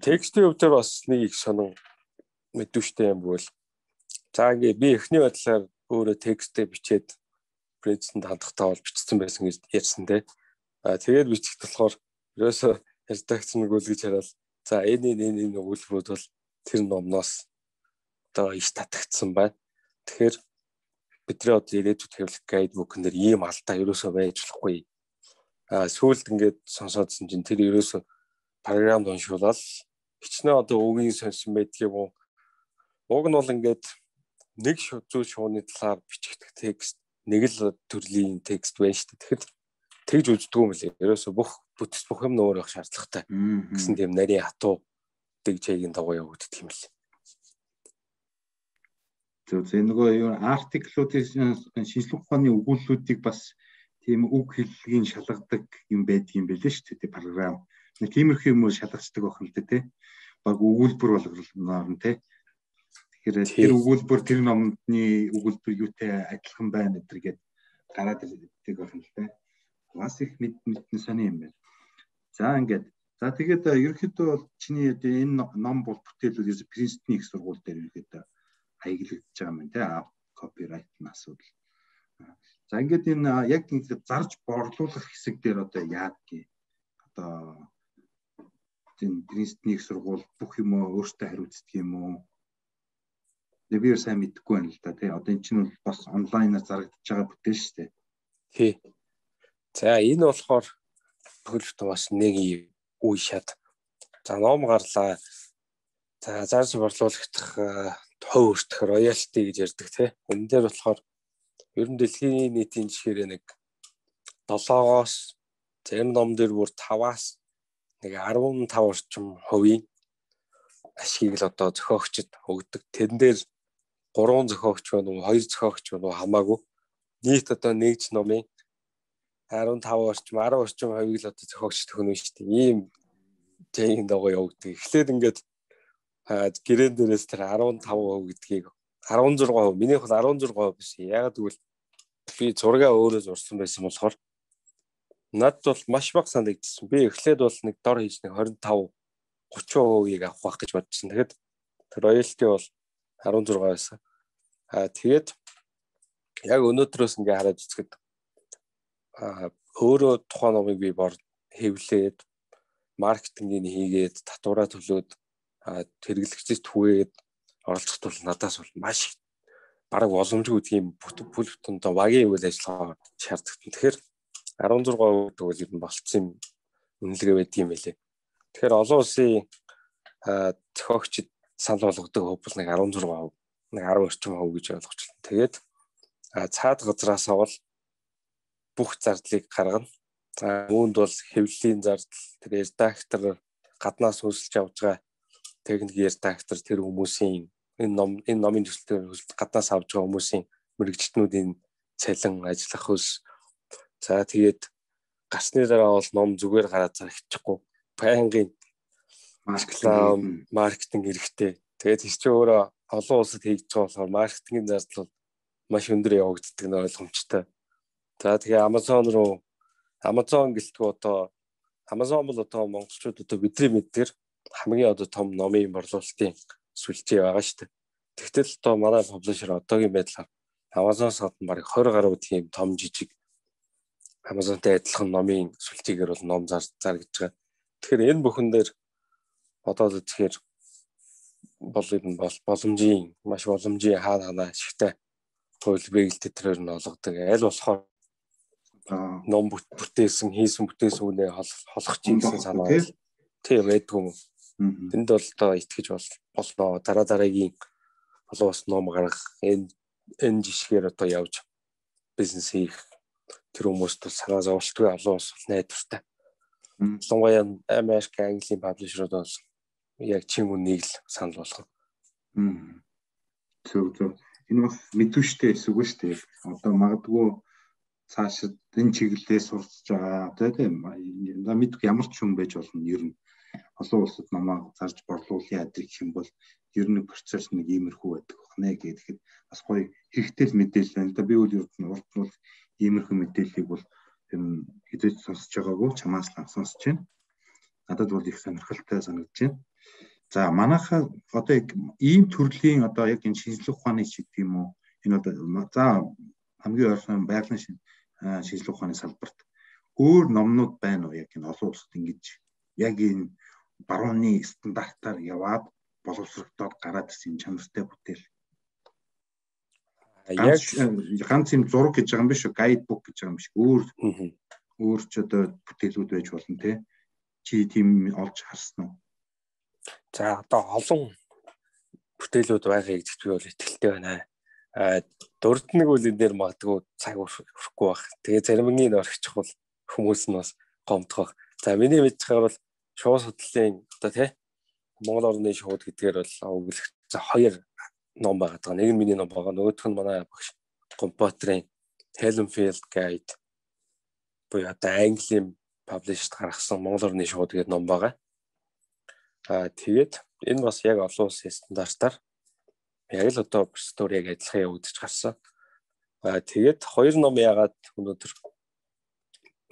Текстийн хувьд бас нэг их сонин мэдвэштэй юм бол за ингээ би эхний байдлаар өөрөө текстээ бичээд принцэнд хандахтаа бол бичсэн байсан гэж ярьсан те. Тэгээд бичих болохоор ерөөсөө редакц нэг үл гэж хараад за энэ өгүүлбэрүүд бол тэр номноос одоо иш татагдсан байна. Тэгэхээр бидний одоо ирээдүйд хэвлэх гайдбук нэр ийм алдаа ерөөсөө байж болохгүй. Сүүлд ингээд сонсоодсон чинь тэр ерөөсөө програмд уншуулаад хичнээн одоо үгийн сонсон байдгийг уг нь бол ингээд нэг зүйл шууны талаар бичигдэх текст нэг л төрлийн текст байна шүү дээ. Тэгэхээр тэгж үздэг юм лээ. Ерөөсөө бүх юм нөр байх шаардлагатай гэсэн тийм нарийн хатуу дэгжээгийн дагуу явагддаг юм лээ. Тэгээ нөгөө юу артиклуудын шинжлэх ухааны өгүүлбэрүүдийг бас тийм үг хэллэгийн шалгадаг юм байдгийн байлээ шүү дээ. Програм нэг тиймэрхүү юм шалгацдаг байх юм л дээ тий. Баг өгүүлбэр болгосноор нь тий. Тэгэхээр тэр өгүүлбэр тэр номны өгүүлбэр юутай адилхан байна гэдэргээд гараад ирдэг байх юм л дээ. Бас их мэдэн сони юм байна. За ингээд за тэгээд ерөнхийдөө бол чиний энэ ном бол бүтээлүүд ерөөс Принстон их сургууль дээр ерөнхийдөө хаяглагдаж байгаа юм тий. Копирайтын асуудал. За ингээд энэ яг ингээд зарж борлуулах хэсэг дээр одоо яадгийг одоо тийм Принстон их сургууль бүх юм өөртөө хариуцдаг юм уу? Би сайн мэдэхгүй байна л да тий. Одоо эн чинь бол бас онлайнаар зарагдаж байгаа бүтээл шүү дээ. Тий. За энэ болохоор төлөвт бас нэг үе шат. За ном гарлаа. За зарж борлуулах хувь өртөх роялти гэж ярьдаг тий. Энэ дээр болохоор ер нь дэлхийн нийтийн жишээр нэг 7-оос зарим ном дээр бүр 5-аас нэг 15 орчим хувийн ашгийг л одоо зохиогчд өгдөг. Тэрэн дээр 3 зохиогч байна уу, 2 зохиогч байна уу хамаагүй. Нийт одоо нэгж номын 15 орчим, 10 орчим хувийг л одоо зохиогч төгнө шүү дээ. Ийм зэйн дагуу явагддаг. Эхлээд ингээд гэрэн дээрээс тэр 15% гэдгийг 16%, минийх бол 16% биш. Яагаад гэвэл би зургаа өөрөө зурсан байсан болохоор надад бол маш бага санагдсан. Би эхлээд бол нэг дор хийж нэг 25-30%-ийг авах байх гэж бодсон. Тэгэхэд роялти бол 16 байсан. Тэгээд яг өнөөдрөөс ингээ хараад үзэхэд өөрөө тухайн номыг би хэвлээд маркетингийг хийгээд татвараа төлөөд хэрэглэгчдэд түгээд оролцох тул надаас бол маш бараг боломжгүй тийм бүлэгтэн доо багийн үйл ажиллагаа шаарддаг. Тэгэхээр 16% тэгвэл ер нь болцсон үнэлгээ байдаг юм байлээ. Тэгэхээр олон улсын зохиогчд санал болгодог хөв бол нэг 16%, нэг 10 орчим хувь гэж ойлгочихлоо. Тэгээд цаад газраас бол бүх зардлыг гаргана. Үүнд бол хэвлэлийн зардал, тэр редактор гаднаас хөлсөж авж байгаа техник редактор тэр хүмүүсийн энэ номын төсөлтөөр гаднаас авж байгаа хүмүүсийн мэрэгчлэтнүүдийн цалин, ажиллах хөлс. За тэгээд гарсны дараа бол ном зүгээр гараад зарчихгүй. Байнгын маркетинг хэрэгтэй. Тэгээд тийч өөрөө олон улсад хийж байгаа болохоор маркетингийн зардал бол маш өндөр явагддаг нь ойлгомжтой. За тэгээ Amazon гэлтгүй одоо Amazon бол одоо монголчууд одоо бидний мэддгээр хамгийн одоо том номын борлуулалтын сүлжээ байгаа шүү дээ. Тэгтэл одоо манай паблишер одоогийн байдлаар Amazon-с гадна бараг 20 гаруй тийм том жижиг Amazon-тай адилхан номын сүлжээгээр бол ном заргаж байгаа. Тэгэхээр энэ бүхэн дээр одоо тэгэхээр маш боломжийн хаана ашигтай хууль бэлтгэл нь олгодог. Аль болохоор ном бүтээсэн үнэ холох чинь гэсэн санаа тийм байдгүй юм. Тэнд бол одоо итгэж болно. Дараагийн олон бас ном гаргах энэ жишгээр одоо явж бизнес хийх тэр хүмүүст бол санаа зовлтгүй олон бас найдвартай. Ялангуяа Америк, Английн паблишерууд бол яг чин үнийг л санал болгох. Зөв. Энэ бас мэдвэштэй эсвэл шүү дээ. Одоо магадгүй цаашид энэ чиглэлээр сурч байгаа тийм мэдгүй ямар ч юм байж болно. Ер нь олон улсад намаа зарж борлуулъя гэх юм бол ер нь процесс нэг иймэрхүү байдаг нэ гэхэд бас гоё хэрэгтэй мэдээлэл байна. Би үл урд нь бол иймэрхүү мэдээллийг бол хэзээ сонсож байгаагүй чамаас л сонсож байна. Надад бол их сонирхолтой санагдаж байна. За манайхаа одоо ийм төрлийн одоо яг энэ шинжлэх ухааны ч гэдэг юм уу энэ одоо за хамгийн ойрхон байгалийн шинжлэх ухааны салбарт өөр номнууд байна уу яг энэ олон улсад ингэж яг энэ барууны стандартаар яваад боловсрогдоод гараад ирсэн чанартай бүтээл. Яг ганц юм зураг гэж байгаа юм биш үү? Гайдбук гэж байгаа юм биш. Өөр ч одоо бүтээлүүд байж болно те. Чи тийм олж харсан уу? За одоо олон бүтээлүүд байгаа гэж би бол итгэлтэй байна. Дурднаг үл энэ дээр магадгүй цаг өрөхгүй байх. Тэгээ заримгийн орчих бол хүмүүс нь бас гомдох. За миний мэдж байгаа бол шууд судлалын одоо тий Монгол орны шууд гэдгээр бол өгүүлэх хоёр ном байгаа. Нэг нь миний ном байгаа. Нөгөөх нь манай багш компьютерийн Helmfield Guide буюу одоо Английн published гаргасан Монгол орны шууд гэдэг ном байгаа. Тэгээд энэ бас яг олон улсын стандартаар яг л одоо стори яг адилхан явагдаж гарсан. Тэгээд хоёр ном яагаад өнөөдөр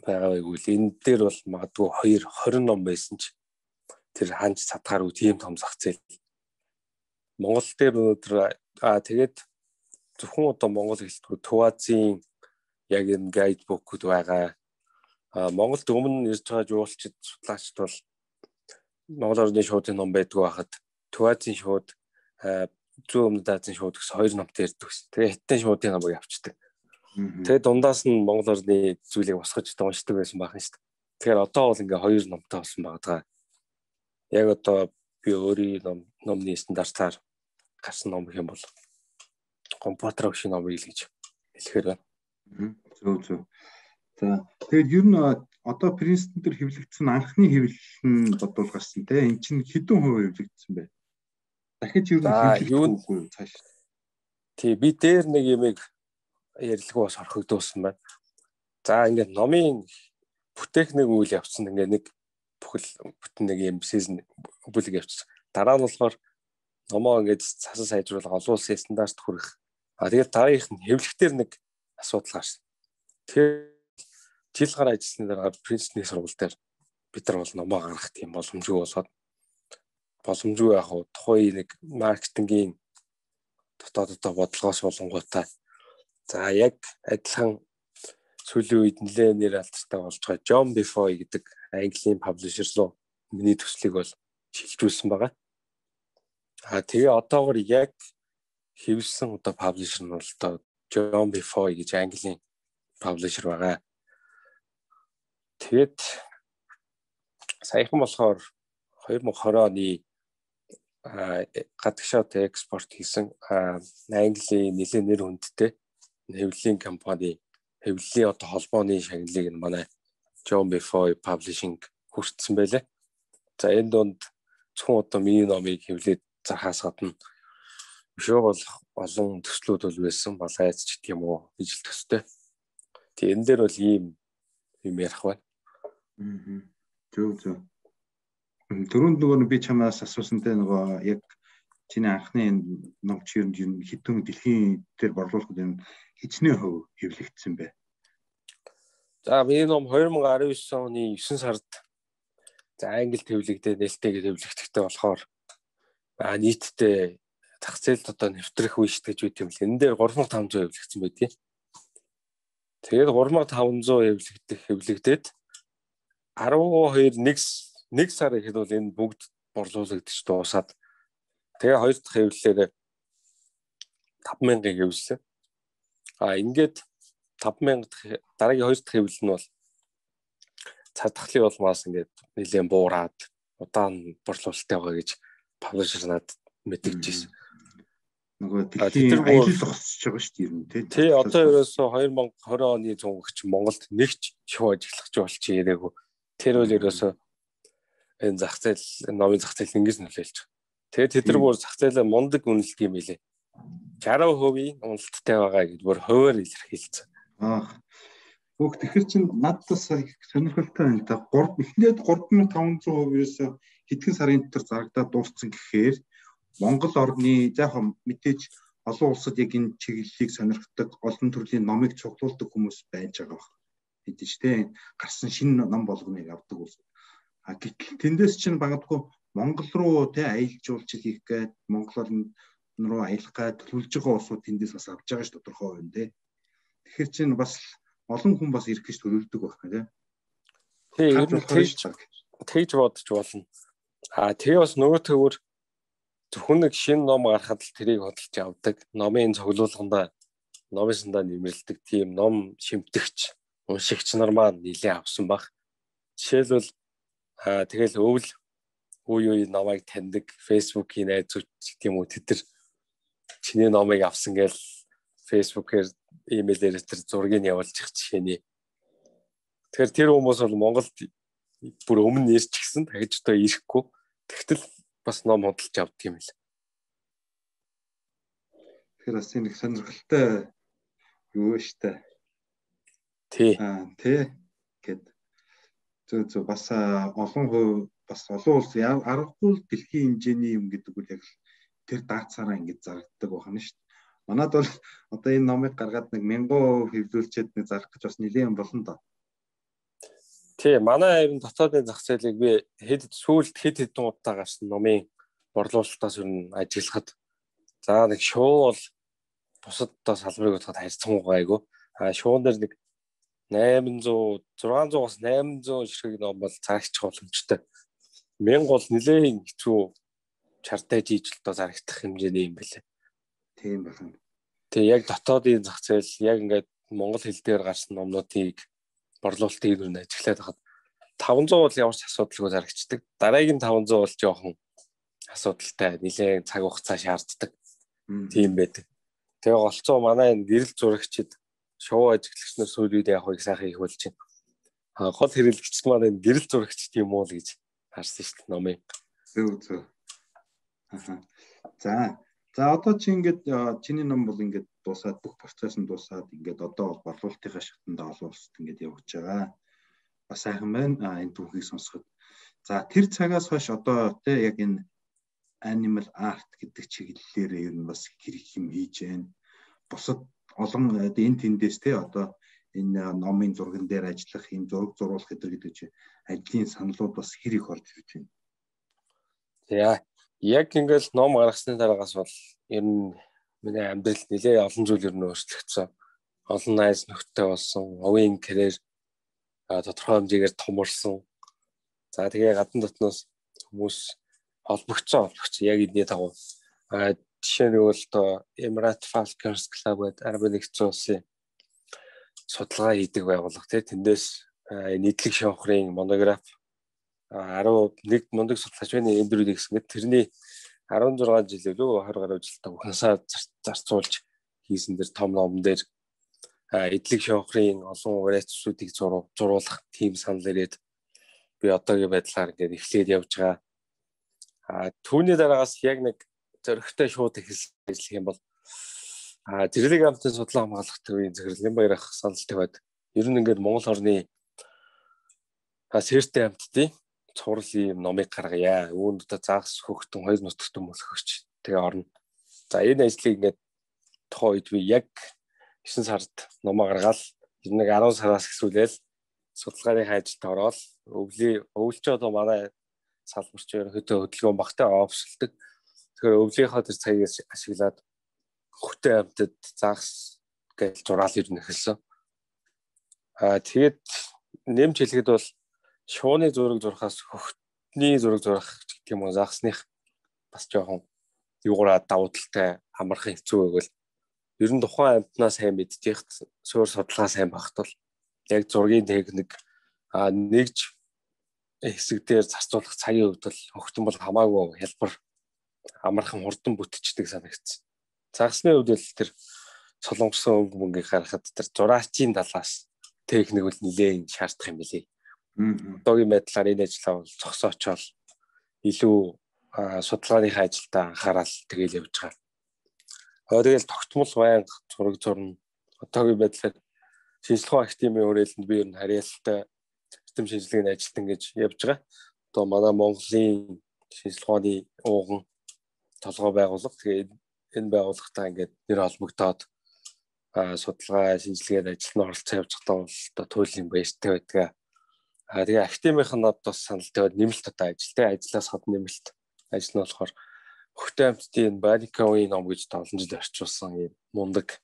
байгаа вэ гэвэл энэ дээр бол магадгүй 20 ном байсан ч тэр ханж цадгаар үу тийм том зах зээл. Монгол дээр өнөөдөр тэгээд зөвхөн одоо монгол хэлтгүү Төвазийн яг энэ гайдбукуд байгаа. Монголд өмнө ирж байгаа жуулчид судлаачд бол Монгол орны шуудын ном байдгүй байхад Төвазийн шууд зүүн өмнөд Азийн шууд гэсэн хоёр номтой ирдэг ус. Тэгээ хятадын шуудын номыг авчдаг. Тэгээ дундаас нь Монгол орны зүйлийг босгож уншдаг байсан бахан шүү дээ. Тэгэхээр одоо бол ингээ хоёр номтой болсон байгаа. Яг одоо би өөрийн номны стандартаар гарсан ном гэх юм бол компьютер өвшин ном гэж хэлэхээр байна. Зөв. За тэгээд ер нь одоо Принстон дээр хэвлэгдсэн анхны хэвлэл нь бодвол гарсан те. Энд чинь хэдэн хувь хэвлэгдсэн бэ? Дахиж ер нь хэвлэгдэхгүй цааш. Тий би дээр нэг юмыг ярилгүй бас орхигдуулсан байна. За ингээд номын бүтээх нэг үйл явцсан ингээд нэг бүтэн нэг юм сизон бүлэг явцсан. Дараа нь болохоор номоо ингээд цасан сайжруулах олон улсын стандарт хүрэх. Тэгээд дараагийнх нь хэвлэхтэр нэг асуудал гарсан. Тэгэхээр жил гараа ажилласны дараа Принстонийн сургууль дээр бид нар бол номоо гаргах тийм боломжгүй болоод боломжгүй яг тухайн нэг маркетингийн дотоод бодлогоос болонгуудаа за яг адилхан сүүлийн үед нэлээд нэр алдартай болж байгаа John Befoy гэдэг Английн publisher руу миний төслийг бол шилжүүлсэн байгаа. Тэгээ одоогор яг хэвлсэн одоо publisher нь бол одоо John Befoy гэж Английн publisher байгаа. Тэгээд саяхан болохоор 2020 оны гадагшаад экспорт хийсэн Английн нэлээд нэр хүндтэй хэвлэлийн компани хэвлэлийн одоо холбооны шагналыг манай John Befoy Publishing хүртсэн байлаа. За энэ донд зөвхөн одоо миний номыг хэвлээд зархаас гадна өшөө бол олон төслүүд бол байсан балайц ч гэх юм уу ижил төстэй. Тэгээ энэ дээр бол ийм юм ярих байна. Зөв. Дөрөнд нөгөө би чамаас асуусантай нөгөө яг чиний анхны ном чи ер нь хэдэн дэлхийн дээр борлуулахад энэ хичнээн хөв хэвлэгдсэн бэ? За миний ном 2019 оны 9 сард за Англид хэвлэгдээ нээлттэйгээр хэвлэгдэхтэй болохоор нийтдээ зах зээлд одоо нэвтрэх үе шүү гэж үт юм л. Энэ дээр 3500 хэвлэгдсэн байдгийг. Тэгээд 3500 хэвлэгдээд 12 сар ихэд бол энэ бүгд борлуулагдчих дуусаад тэгээ хоёр дахь хэвлэлээр 5000-ыг хэвлэлсэн. Ингээд 5000 дараагийн хоёр дахь хэвлэл нь бол цадхлын улмаас ингээд нэлээд буураад удаан борлуулалттай байгаа гэж publisher надад мэдэгдчихсэн. Нөгөө дэлхийн аялал зогсож байгаа шүү дээ юм тий. Тий одоо ерөөсөө 2020 оны цунгагч Монголд нэгч шоу ажиллах болчих ирээгүй. Тэр бол ерөөсөө энэ зах зээл номын зах зээл ингэж нөлөөлж байгаа. Тэгээд тэд нар бүр зах зээлээ мундаг үнэлдэг юм билээ. 60% уналттай байгаа гэдээ бүр хуваар илэрхийлсэн. Бүх тэгэхээр чинь надаас сонирхолтой байна да. Эхлээд 3500%-ээс хэдхэн сарын дотор зарагдаад дууссан гэхээр Монгол орны яг мэдээж олон улсад яг энэ чиглэлийг сонирхдаг, олон төрлийн номыг цуглуулдаг хүмүүс байж байгаа баг. Хэдэж тэ гарсан шинэ ном болгоныг авдаг улс. Гэтэл тэндээс чинь магадгүй Монгол руу тэ аялжуулж хийх гээд Монгол руу аялах гээд төлөвлөж байгаа улсууд тэндээс бас авч байгаа ш тодорхой байна тэ. Тэгэхээр чинь бас олон хүн бас ирэх гэж төлөвлөдөг байх нэ. Тийм тэгж бодож болно. Тэгээ бас нөгөө төвөр зөвхөн нэг шинэ ном гарахад л тэрийг хөдөлж авдаг. Номын цуглуулганда номынсандаа нэмэрлдэг тийм ном шимтгч, уншигч нар маань нэлээ авсан баг. Жишээлбэл тэгэл өвл үе намайг таньдаг Facebook-ийн найзууд гэх юм уу тэд нар чиний номыг авсан гэж Facebook-ээр имэйлээр тэр зургийг явуулчих жишээний. Тэгэхээр тэр хүмүүс бол Монголд бүр өмнө ирж гисэн дахиж одоо ирэхгүй. Тэгтэл бас ном худалдаж авдаг юм л. Тэгэхээр бас нэг сонирхолтой юу штэ. Тий. Тий гэд зөв бас олон хувь бас олон улс аргагүй дэлхийн хэмжээний юм гэдэг үл яг тэр даацаараа ингэж зарагддаг байна шүү дээ. Манайд бол одоо энэ номыг гаргаад нэг 1000% хэвлүүлчихэд нэг зарах гэж бас нэлээд болно доо. Тий, манай ер нь дотоодын зах зээлийг би сүүлд хэд удаа гарсан номын борлуулалтаас ер нь ажиглахад за нэг шоу бол бусад одоо салбарыг бодоход харьцангуй гайгүй. Шоун дээр нэг 600-аас 800 ширхэг ном бол зарагчих боломжтой. 1000 бол нэлээд хэцүү чартай жийж л доо зарагдах хэмжээний юм байлээ. Тийм байна. Тэгээ яг дотоодын зах зээл яг ингээд монгол хэл дээр гарсан номнуудыг борлуулалтыг юу нэ ажиглаад хахад 500 бол ямар ч асуудалгүй зарагддаг. Дараагийн 500 бол жоохон асуудалтай, нэлээд цаг хугацаа шаарддаг. Тийм байдаг. Тэгээ голцоо манай энэ гэрэл зурагчид шоу ажиглагч нар сүүл үед яг их сайхан их болж байна. Гол хэрэглэгч маань энэ гэрэл зурагч тийм уу л гэж харсан шүү дээ номыг. Зөв. За одоо чи ингээд чиний ном бол ингээд дуусаад бүх процесс нь дуусаад ингээд одоо бол борлуулалтынхаа шатанда олон улсад ингээд явж байгаа. Бас сайхан байна энэ түүхийг сонсоход. За тэр цагаас хойш одоо тий яг энэ animal art гэдэг чиглэлээр ер нь бас хэрэг юм хийж байна. Бусад олон энэ тэндээс тий одоо энэ номын зурган дээр ажиллах, юм зураг зурулах гэдэг чинь ажлын саналууд бас хэр их орж ирж байна. За яг ингээл ном гаргасны дараагаас бол ер нь миний амьдралд нэлээ олон зүйл ер нь өөрчлөгдсөн. Олон найз нөхдөд болсон, овийн карьер тодорхой хэмжээгээр томорсон. За тэгээ гадна дотноос хүмүүс холбогдсон яг эдний дагуу. Жишээ нь бол одоо Emirates Falcons Club гэдэг Арабын нэгдсэн улсын судалгаа хийдэг байгууллага тэндээс нийтлэг шонхрын монограф 11 мундаг судлаач байна эндүрийг гэсэн мэт тэрний 16 жил лөө 20 гаруй жилдээ ухаасаа зарцуулж хийсэн дэр том ном дээр эдлэг шонхрын олон вариацуудыг зурулах тийм санал ирээд би одоогийн байдлаар ингээд эхлээд явж байгаа. Түүний дараагаас яг нэг зөрөгтэй шууд эхэлсэн ажиллах юм бол зэрлэг амтны судлаа хамгаалах төвийн захирлын баярах саналтай байд. Ер нь ингээд Монгол орны сэртэй амттын цуврал ийм номыг гаргая. Үүнд одоо загас хөхтөн хоёр нутагтэн мөлхөгч тэгээ орно. За энэ ажлыг ингээд тухайн үед би яг 9 сард номоо гаргаал. Ер нь 10 сараас эхлүүлээл судалгааны ажилд ороод өвлч одоо манай салбарч хөдөлгөөн багтай офшлдаг. Тэгэхээр өвлийнхөө тэр цагийг ашиглаад хөхтэй амтад загас гэж зураал ер нь эхэлсэн. Тэгээд нэмж хэлэхэд бол шууны зураг зурхаас хөхтний зураг зурах гэх юм уу загсных бас жоохон юугаараа давуу талтай амархан хэцүү байвал ер нь тухайн амтнаа сайн мэдчих суур судалгаа сайн багт бол яг зургийн техник нэгж хэсэг дээр зарцуулах цагийн хувьд бол хөхтөн бол хамаагүй хялбар амархан хурдан бүтчихдэг санагдсан. Загсны хувьд л тэр солонгосон өнгө мөнгийг харахад тэр зураачийн талаас техник бол нэлээд шаардах юм билий. Одоогийн байдлаар энэ ажлаа бол зогсоочоод илүү судалгааныхаа ажилдаа анхаарал тэгэл явж байгаа. Тэгэл тогтмол байнга зураг зурна. Одоогийн байдлаар шинжилгээ академийн хүрээлэнд би ер нь харьяалалтай систем шинжилгээний ажилтан гэж явж байгаа. Одоо манай Монголын шинжилгээний ууган толгой байгууллага. Тэгээд энэ байгууллагатай ингээд нэр холбогдоод судалгаа шинжилгээд ажилд оролцож явж байгаа бол одоо туйлын баяртай байдаг. Тэгээ академийн бас санал тавиад нэмэлт одоо ажлаас хад нэмэлт ажил нь болохоор Хөхтэй амьтдын Барикавын ном гэж 7 жил орчуулсан юм мундаг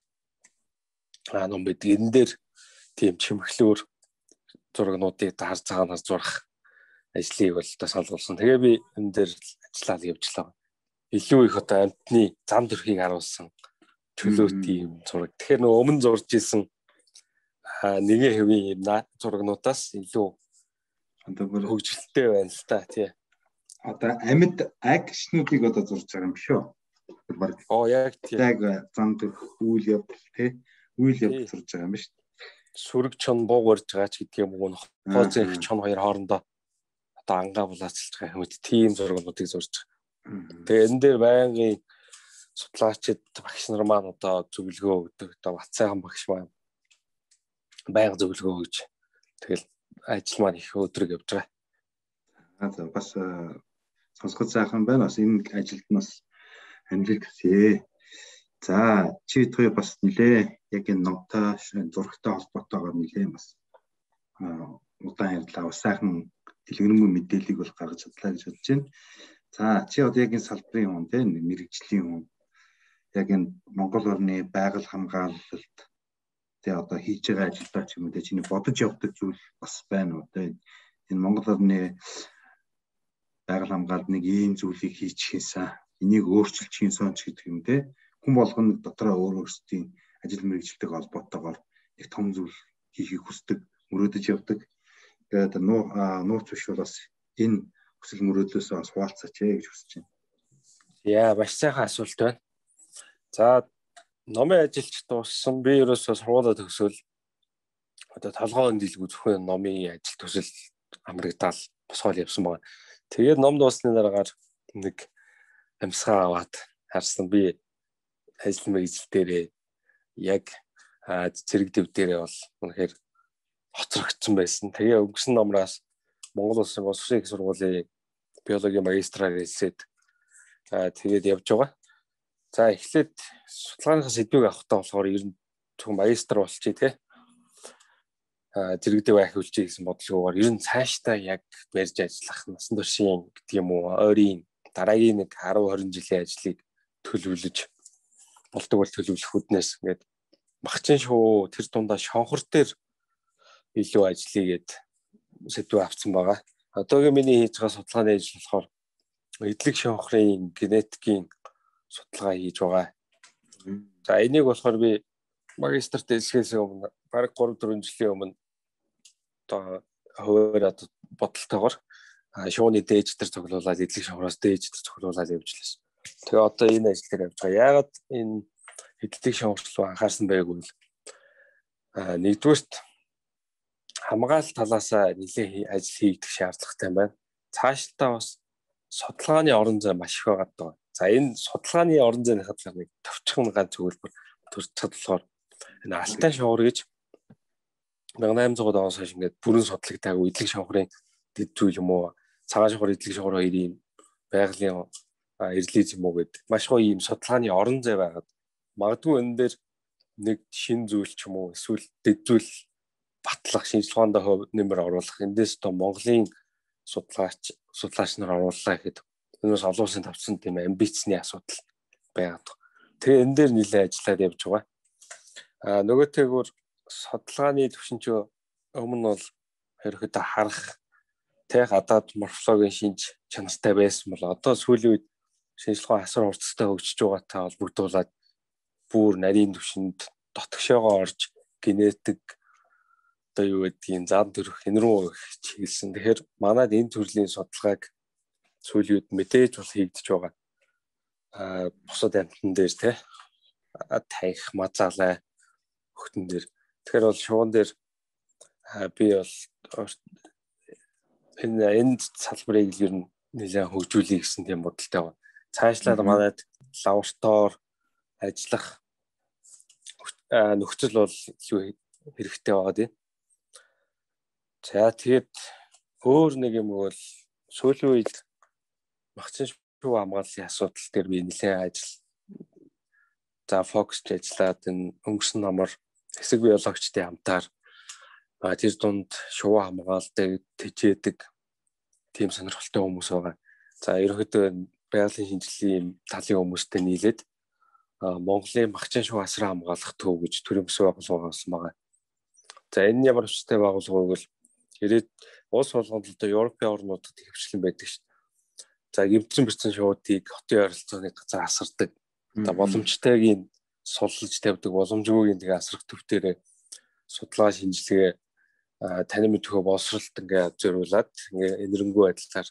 ном байдаг. Энэ дээр тийм чимэглүүр зурагнуудыг харж цагаанаас зурах ажлыг бол одоо сануулсан. Тэгээ би энэ дээр ажиллаад явжлаа. Илүү их одоо амьтны зам төрхийг харуулсан чөлөөт юм зураг. Тэгэхээр нөгөө өмнө зурж исэн нэгэн хэвийн юм зурагнуудаас илүү хөгжилтэй байна л та тий. Одоо амьд акшнуудыг одоо зурж байгаа юм шүү. Яг тий. Яг зам төрх үйл явдал тий. Үйл явдал зурж байгаа юм ба шүү. Сүрэг чон бууг барьж байгаа ч гэдэг юм уу. Хооцоо их чон хоёр хоорондоо одоо ангаа булаацалж байгаа хүмүүс тийм зурагнуудыг зурж байгаа. Тэгээ энэ дээр байнгын судлаачид багш нар маань одоо зөвлөгөө өгдөг. Одоо Батцайхан багш маань байнга зөвлөгөө өгж тэгэл ажил маань их өдрөг явж байгаа. Бас сонсгол сайхан байна. Бас энэ ажилд нас амжилт хүсье. За чи twee бас нилээ яг энэ номтой зурагтай холбоотойгоор нилээ бас удаан ярьлаа. Бас сайхан дэлгэрэнгүй мэдээллийг бол гаргаж чадлаа гэж бодож байна. За чи одоо яг энэ салбарын хүн те мэрэгжлийн хүн яг энэ Монгол орны байгаль хамгаалалт те одоо хийж байгаа ажилдаа ч юм уу те чиний бодож явдаг зүйл бас байна уу те энэ Монгол орны байгаль хамгаалалт нэг ийм зүйлийг хийчихээсаа энийг өөрчилчихсэн ч гэдэг юм те хүн болгоно дотроо өөрсдийн ажил мэргэжилтэйг холбоотойгоор их том зүйл хийхийг хүсдэг, мөрөөдөж явдаг. Тэгээд нууц биш бол бас энэ хүсэл мөрөөдлөөсөө бас хуваалцаач гэж хүсэж байна. Яа, маш сайхан асуулт байна. За, номын ажилч дууссан. Би ерөөсөө сургуулаа төгсөөл одоо толгойн дэлгүү зөвхөн номын ажил төсөл амрагдаал босгоол явсан байна. Тэгээд ном дууссаны дараагаар нэг амьсгаа аваад харсан би ажил мэргэжил дээрээ яг зэрэг дэв дээрээ бол үнэхээр хоцрогдсон байсан. Тэгээ өнгөрсөн номроос Монгол Улсын боловсролын их сургуулийн биологийн магистраар хэлсээд тэгээд явж байгаа. За эхлээд судалгааныхаа сэдвийг авахтаа болохоор ер нь зөвхөн магистр болчихъя те. Зэрэг дэв ахиулчих гэсэн бодлогоор ер нь цаашдаа яг барьж ажиллах насан туршийн гэдэг юм уу ойрын дараагийн нэг 10-20 жилийн ажлыг төлөвлөж болдог бол төлөвлөх үднээс ингээд багчин шоу тэр дундаа шонхор дээр илүү ажиллагээд сэдвээ авсан байгаа. Одоогийн миний хийж байгаа судалгааны ажил болохоор эдлэг шонхрын генетикийн судалгаа хийж байгаа. За энийг болохоор би магистрт хэлсгээс өмнө бараг 3-4 жилийн өмнө одоо хуваараад бодолтойгоор шууны дээж дээр цуглуулад эдлэг шонхроос дээж дээр цуглуулад явж лээс. Тэгээ одоо энэ ажил дээр явж байгаа. Яагаад энэ эдлэг шонхрол анхаарсан байгааг бол нэгдүгээрт хамгаалалт талаас нэлээд ажил хийгдэх шаардлагатай байна. Цаашдаа бас судалгааны орон зай маш их байгаа даа. За энэ судалгааны орон зайны хадлага нэг товчхон ганц зөвлөмөр төрж чадлахаар энэ Алтай шовхор гэж 1800 оноос хойш ингээд бүрэн судлагдаагүй эдлэг шонхрын дэд зүйл юм уу? Цагаан шонхор эдлэг шонхор хоёрын байгалийн эрлиз юм уу гэдэг маш гоё ийм судалгааны орон зай байгаад магадгүй энэ дээр нэг шин зүйл ч юм уу эсвэл дэд зүйл батлах шинжилгээнд нэмэр оруулах эндээс одоо Монголын судлаач нар орууллаа гэхэд өнөөс олон улсын тавцсан тийм амбицны асуудал байгаад. Тэгээ энэ дээр нэлээд ажиллаад явж байгаа. Нөгөөтэйгүр судалгааны төвшинч өмнө бол ерөөхдөө харах тэг гадаад морфологийн шинж чанартай байсан бол одоо сүүлийн үед шинжилгээ асар хурцтай хөгжиж байгаатай холбогдуулаад бүр нарийн төвшөнд дотгошоогоо орж генетик одоо юу гэдгийг зам төрөх энэ рүү чиглэсэн. Тэгэхээр манайд энэ төрлийн судалгааг сүүлийн үед мэдээж бол хийгдэж байгаа. Бусад амьтан дээр те таих мазаалай хөхтөн дээр. Тэгэхээр бол шуун дээр би бол энэ салбарыг ер нь нэлээд хөгжүүлэе гэсэн тийм бодолтой байна. Цаашлаад манайд лаборатори ажиллах нөхцөл бол илүү хэрэгтэй байгаа тийм. За тэгээд өөр нэг юм бол сүүлийн үед багцын шүүх хамгааллын асуудал дээр би нэлээд За фокусч ажиллаад энэ өнгөрсөн номор хэсэг биологчдын хамтаар тэр дунд шувуу хамгаалдаг, тэжээдэг тийм сонирхолтой хүмүүс байгаа. За ерөнхийдөө байгалийн шинжилгээний талын хүмүүстэй нийлээд Монголын махчин шувуу асран хамгаалах төв гэж төрөмс байгуулга болсон байгаа. За энэ ямар хүчтэй байгуулга вэ гэвэл ирээд улс болгонд л Европын орнуудад хөвчлэн байдаг шүү дээ. За гэмтсэн бэрцэн шуудыг хотын ойролцооны газар асардаг. За боломжтойгийн суллаж тавьдаг, боломжгүйгийн тэгээ асрах төвтөрөө судалгаа шинжилгээ танин мэдхөө боловсролт ингээ зориулаад ингээ энэрэнгүй байдлаар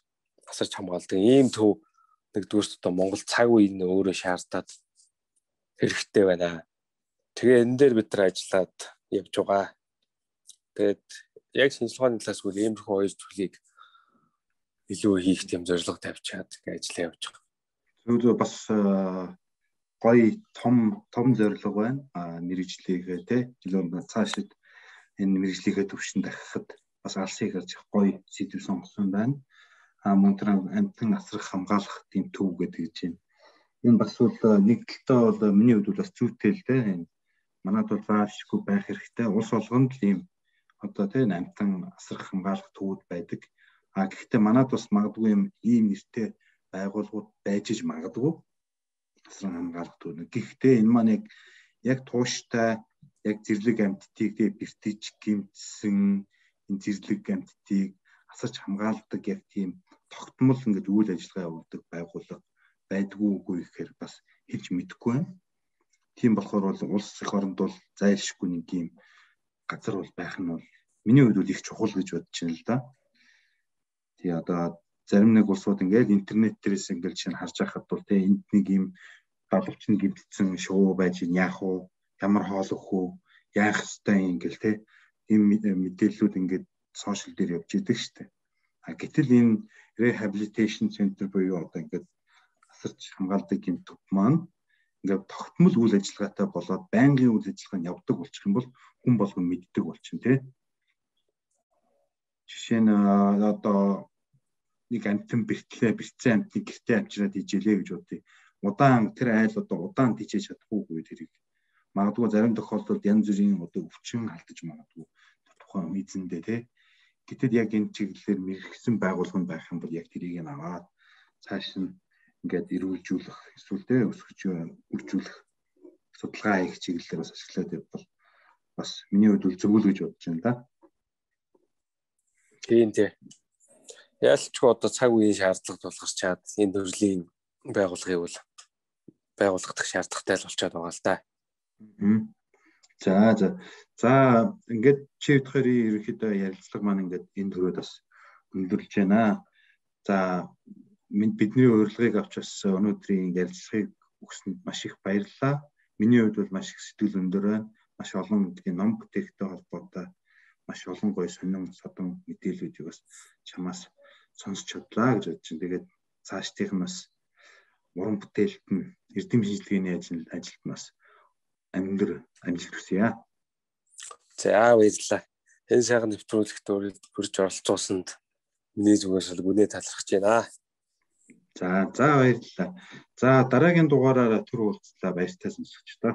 асарч хамгаалдаг. Ийм төв нэгдүгürt одоо Монгол цаг үеийн өөрөө шаардаад хэрэгтэй байна. Тэгээ энэ дээр бид нар ажиллаад явж байгаа. Тэгээд яг шинжилгээний талаас үл иймэрхүү хоёр зүйлийг илүү хийх тийм зорилго тавьчаад ингээ ажиллаа явж байгаа. Зөв бас гоё том зорилго байна. Мэргэжлийгээ те илүү цаашид энэ мэргэжлийнхээ төвшин дахихад бас алсыг харж гоё сэдв сонгосон байна. Мөн тэр амтан асрах хамгаалах тийм төв гэдэг гэж байна. Энэ бас бол нэг талдаа бол миний хувьд бас зүйтэй л дээ. Манайд бол заашгүй байх хэрэгтэй. Улс болгонд л ийм одоо тийм амтан асрах хамгаалах төвүүд байдаг. Гэхдээ манайд бас магадгүй ийм нэртэй байгууллагууд байж иж магадгүй асран хамгаалах төв. Гэхдээ энэ маань яг тууштай яг зэрлэг амьтдыг бэртэж гэмтсэн энэ зэрлэг амьтдыг асарч хамгаалдаг яг тийм тогтмол ингээд үйл ажиллагаа явуулдаг байгууллага байдгүй үгүй гэхээр бас хэлж мэдэхгүй байна. Тийм болохоор бол улс эх оронд бол зайлшгүй нэг юм газар бол байх нь бол миний хувьд бол их чухал гэж бодож байна л да. Тий одоо зарим нэг улсууд ингээд интернет дээрээс ингээд шинэ харж байхад бол тий энд нэг юм далавч нэг гэмтсэн шоу байж яах вэ? Ямар хоол өгөх үү? Яах ёстой юм гэл тий ийм мэдээллүүд ингээд сошиал дээр явж идэг штэ. Гэтэл энэ rehabilitation center буюу одоо ингээд асарч хамгаалдаг юм төв маань ингээд тогтмол үйл ажиллагаатай болоод байнгын үйл ажиллагаа нь явдаг болчих юм бол хүн болгон мэддэг болчихно тий. Жишээ нь одоо нэг амтан бэрцэн амтны гэртээ амжираад ижээлээ гэж бодъё. Удаан тэр айл одоо удаан тийчээж чадахгүй тэрийг магадгүй зарим тохиолдолд янз бүрийн одоо өвчин алдаж магадгүй тухайн эзэндээ тий. Гэтэл яг энэ чиглэлээр мэрэгсэн байгуулгын байх юм бол яг тэрийг нь аваад цааш нь ингээд эрүүлжүүлэх эсвэл тий өсгөж үржүүлэх судалгаа хийх чиглэлээр бас ашиглаад явбал бас миний хувьд зөв л гэж бодож байна да. Тийм тий. Ялчгүй одоо цаг үеийн шаардлагад тулгарчаад энэ төрлийн байгууллагыг бол байгуулагдах шаардлагатай л болчиход байгаа л да. За ингээд чи бодохоор ерөнхийдөө ярилцлага маань ингээд энэ төрөд бас өндөрлж байна. За бидний урилгыг авч бас өнөөдрийн ярилцлагыг өгсөнд маш их баярлалаа. Миний хувьд бол маш их сэтгэл өндөр байна. Маш олон ном бүтээгтэй холбоотой маш олон гоё сонин содон мэдээллүүдийг бас чамаас сонсч чадлаа гэж бодож байна. Тэгээд цаашдынх нь бас уран бүтээлт нь эрдэм шинжилгээний ажилд нас амжилт хүсье. За баярлалаа. Энэ сайхан нэвтрүүлэгт хүрж оролцуулсанд миний зүгээс гүнээ талархаж байна. За баярлалаа. За дараагийн дугаараараа түр уулзлаа баяртай сонсогчдоо.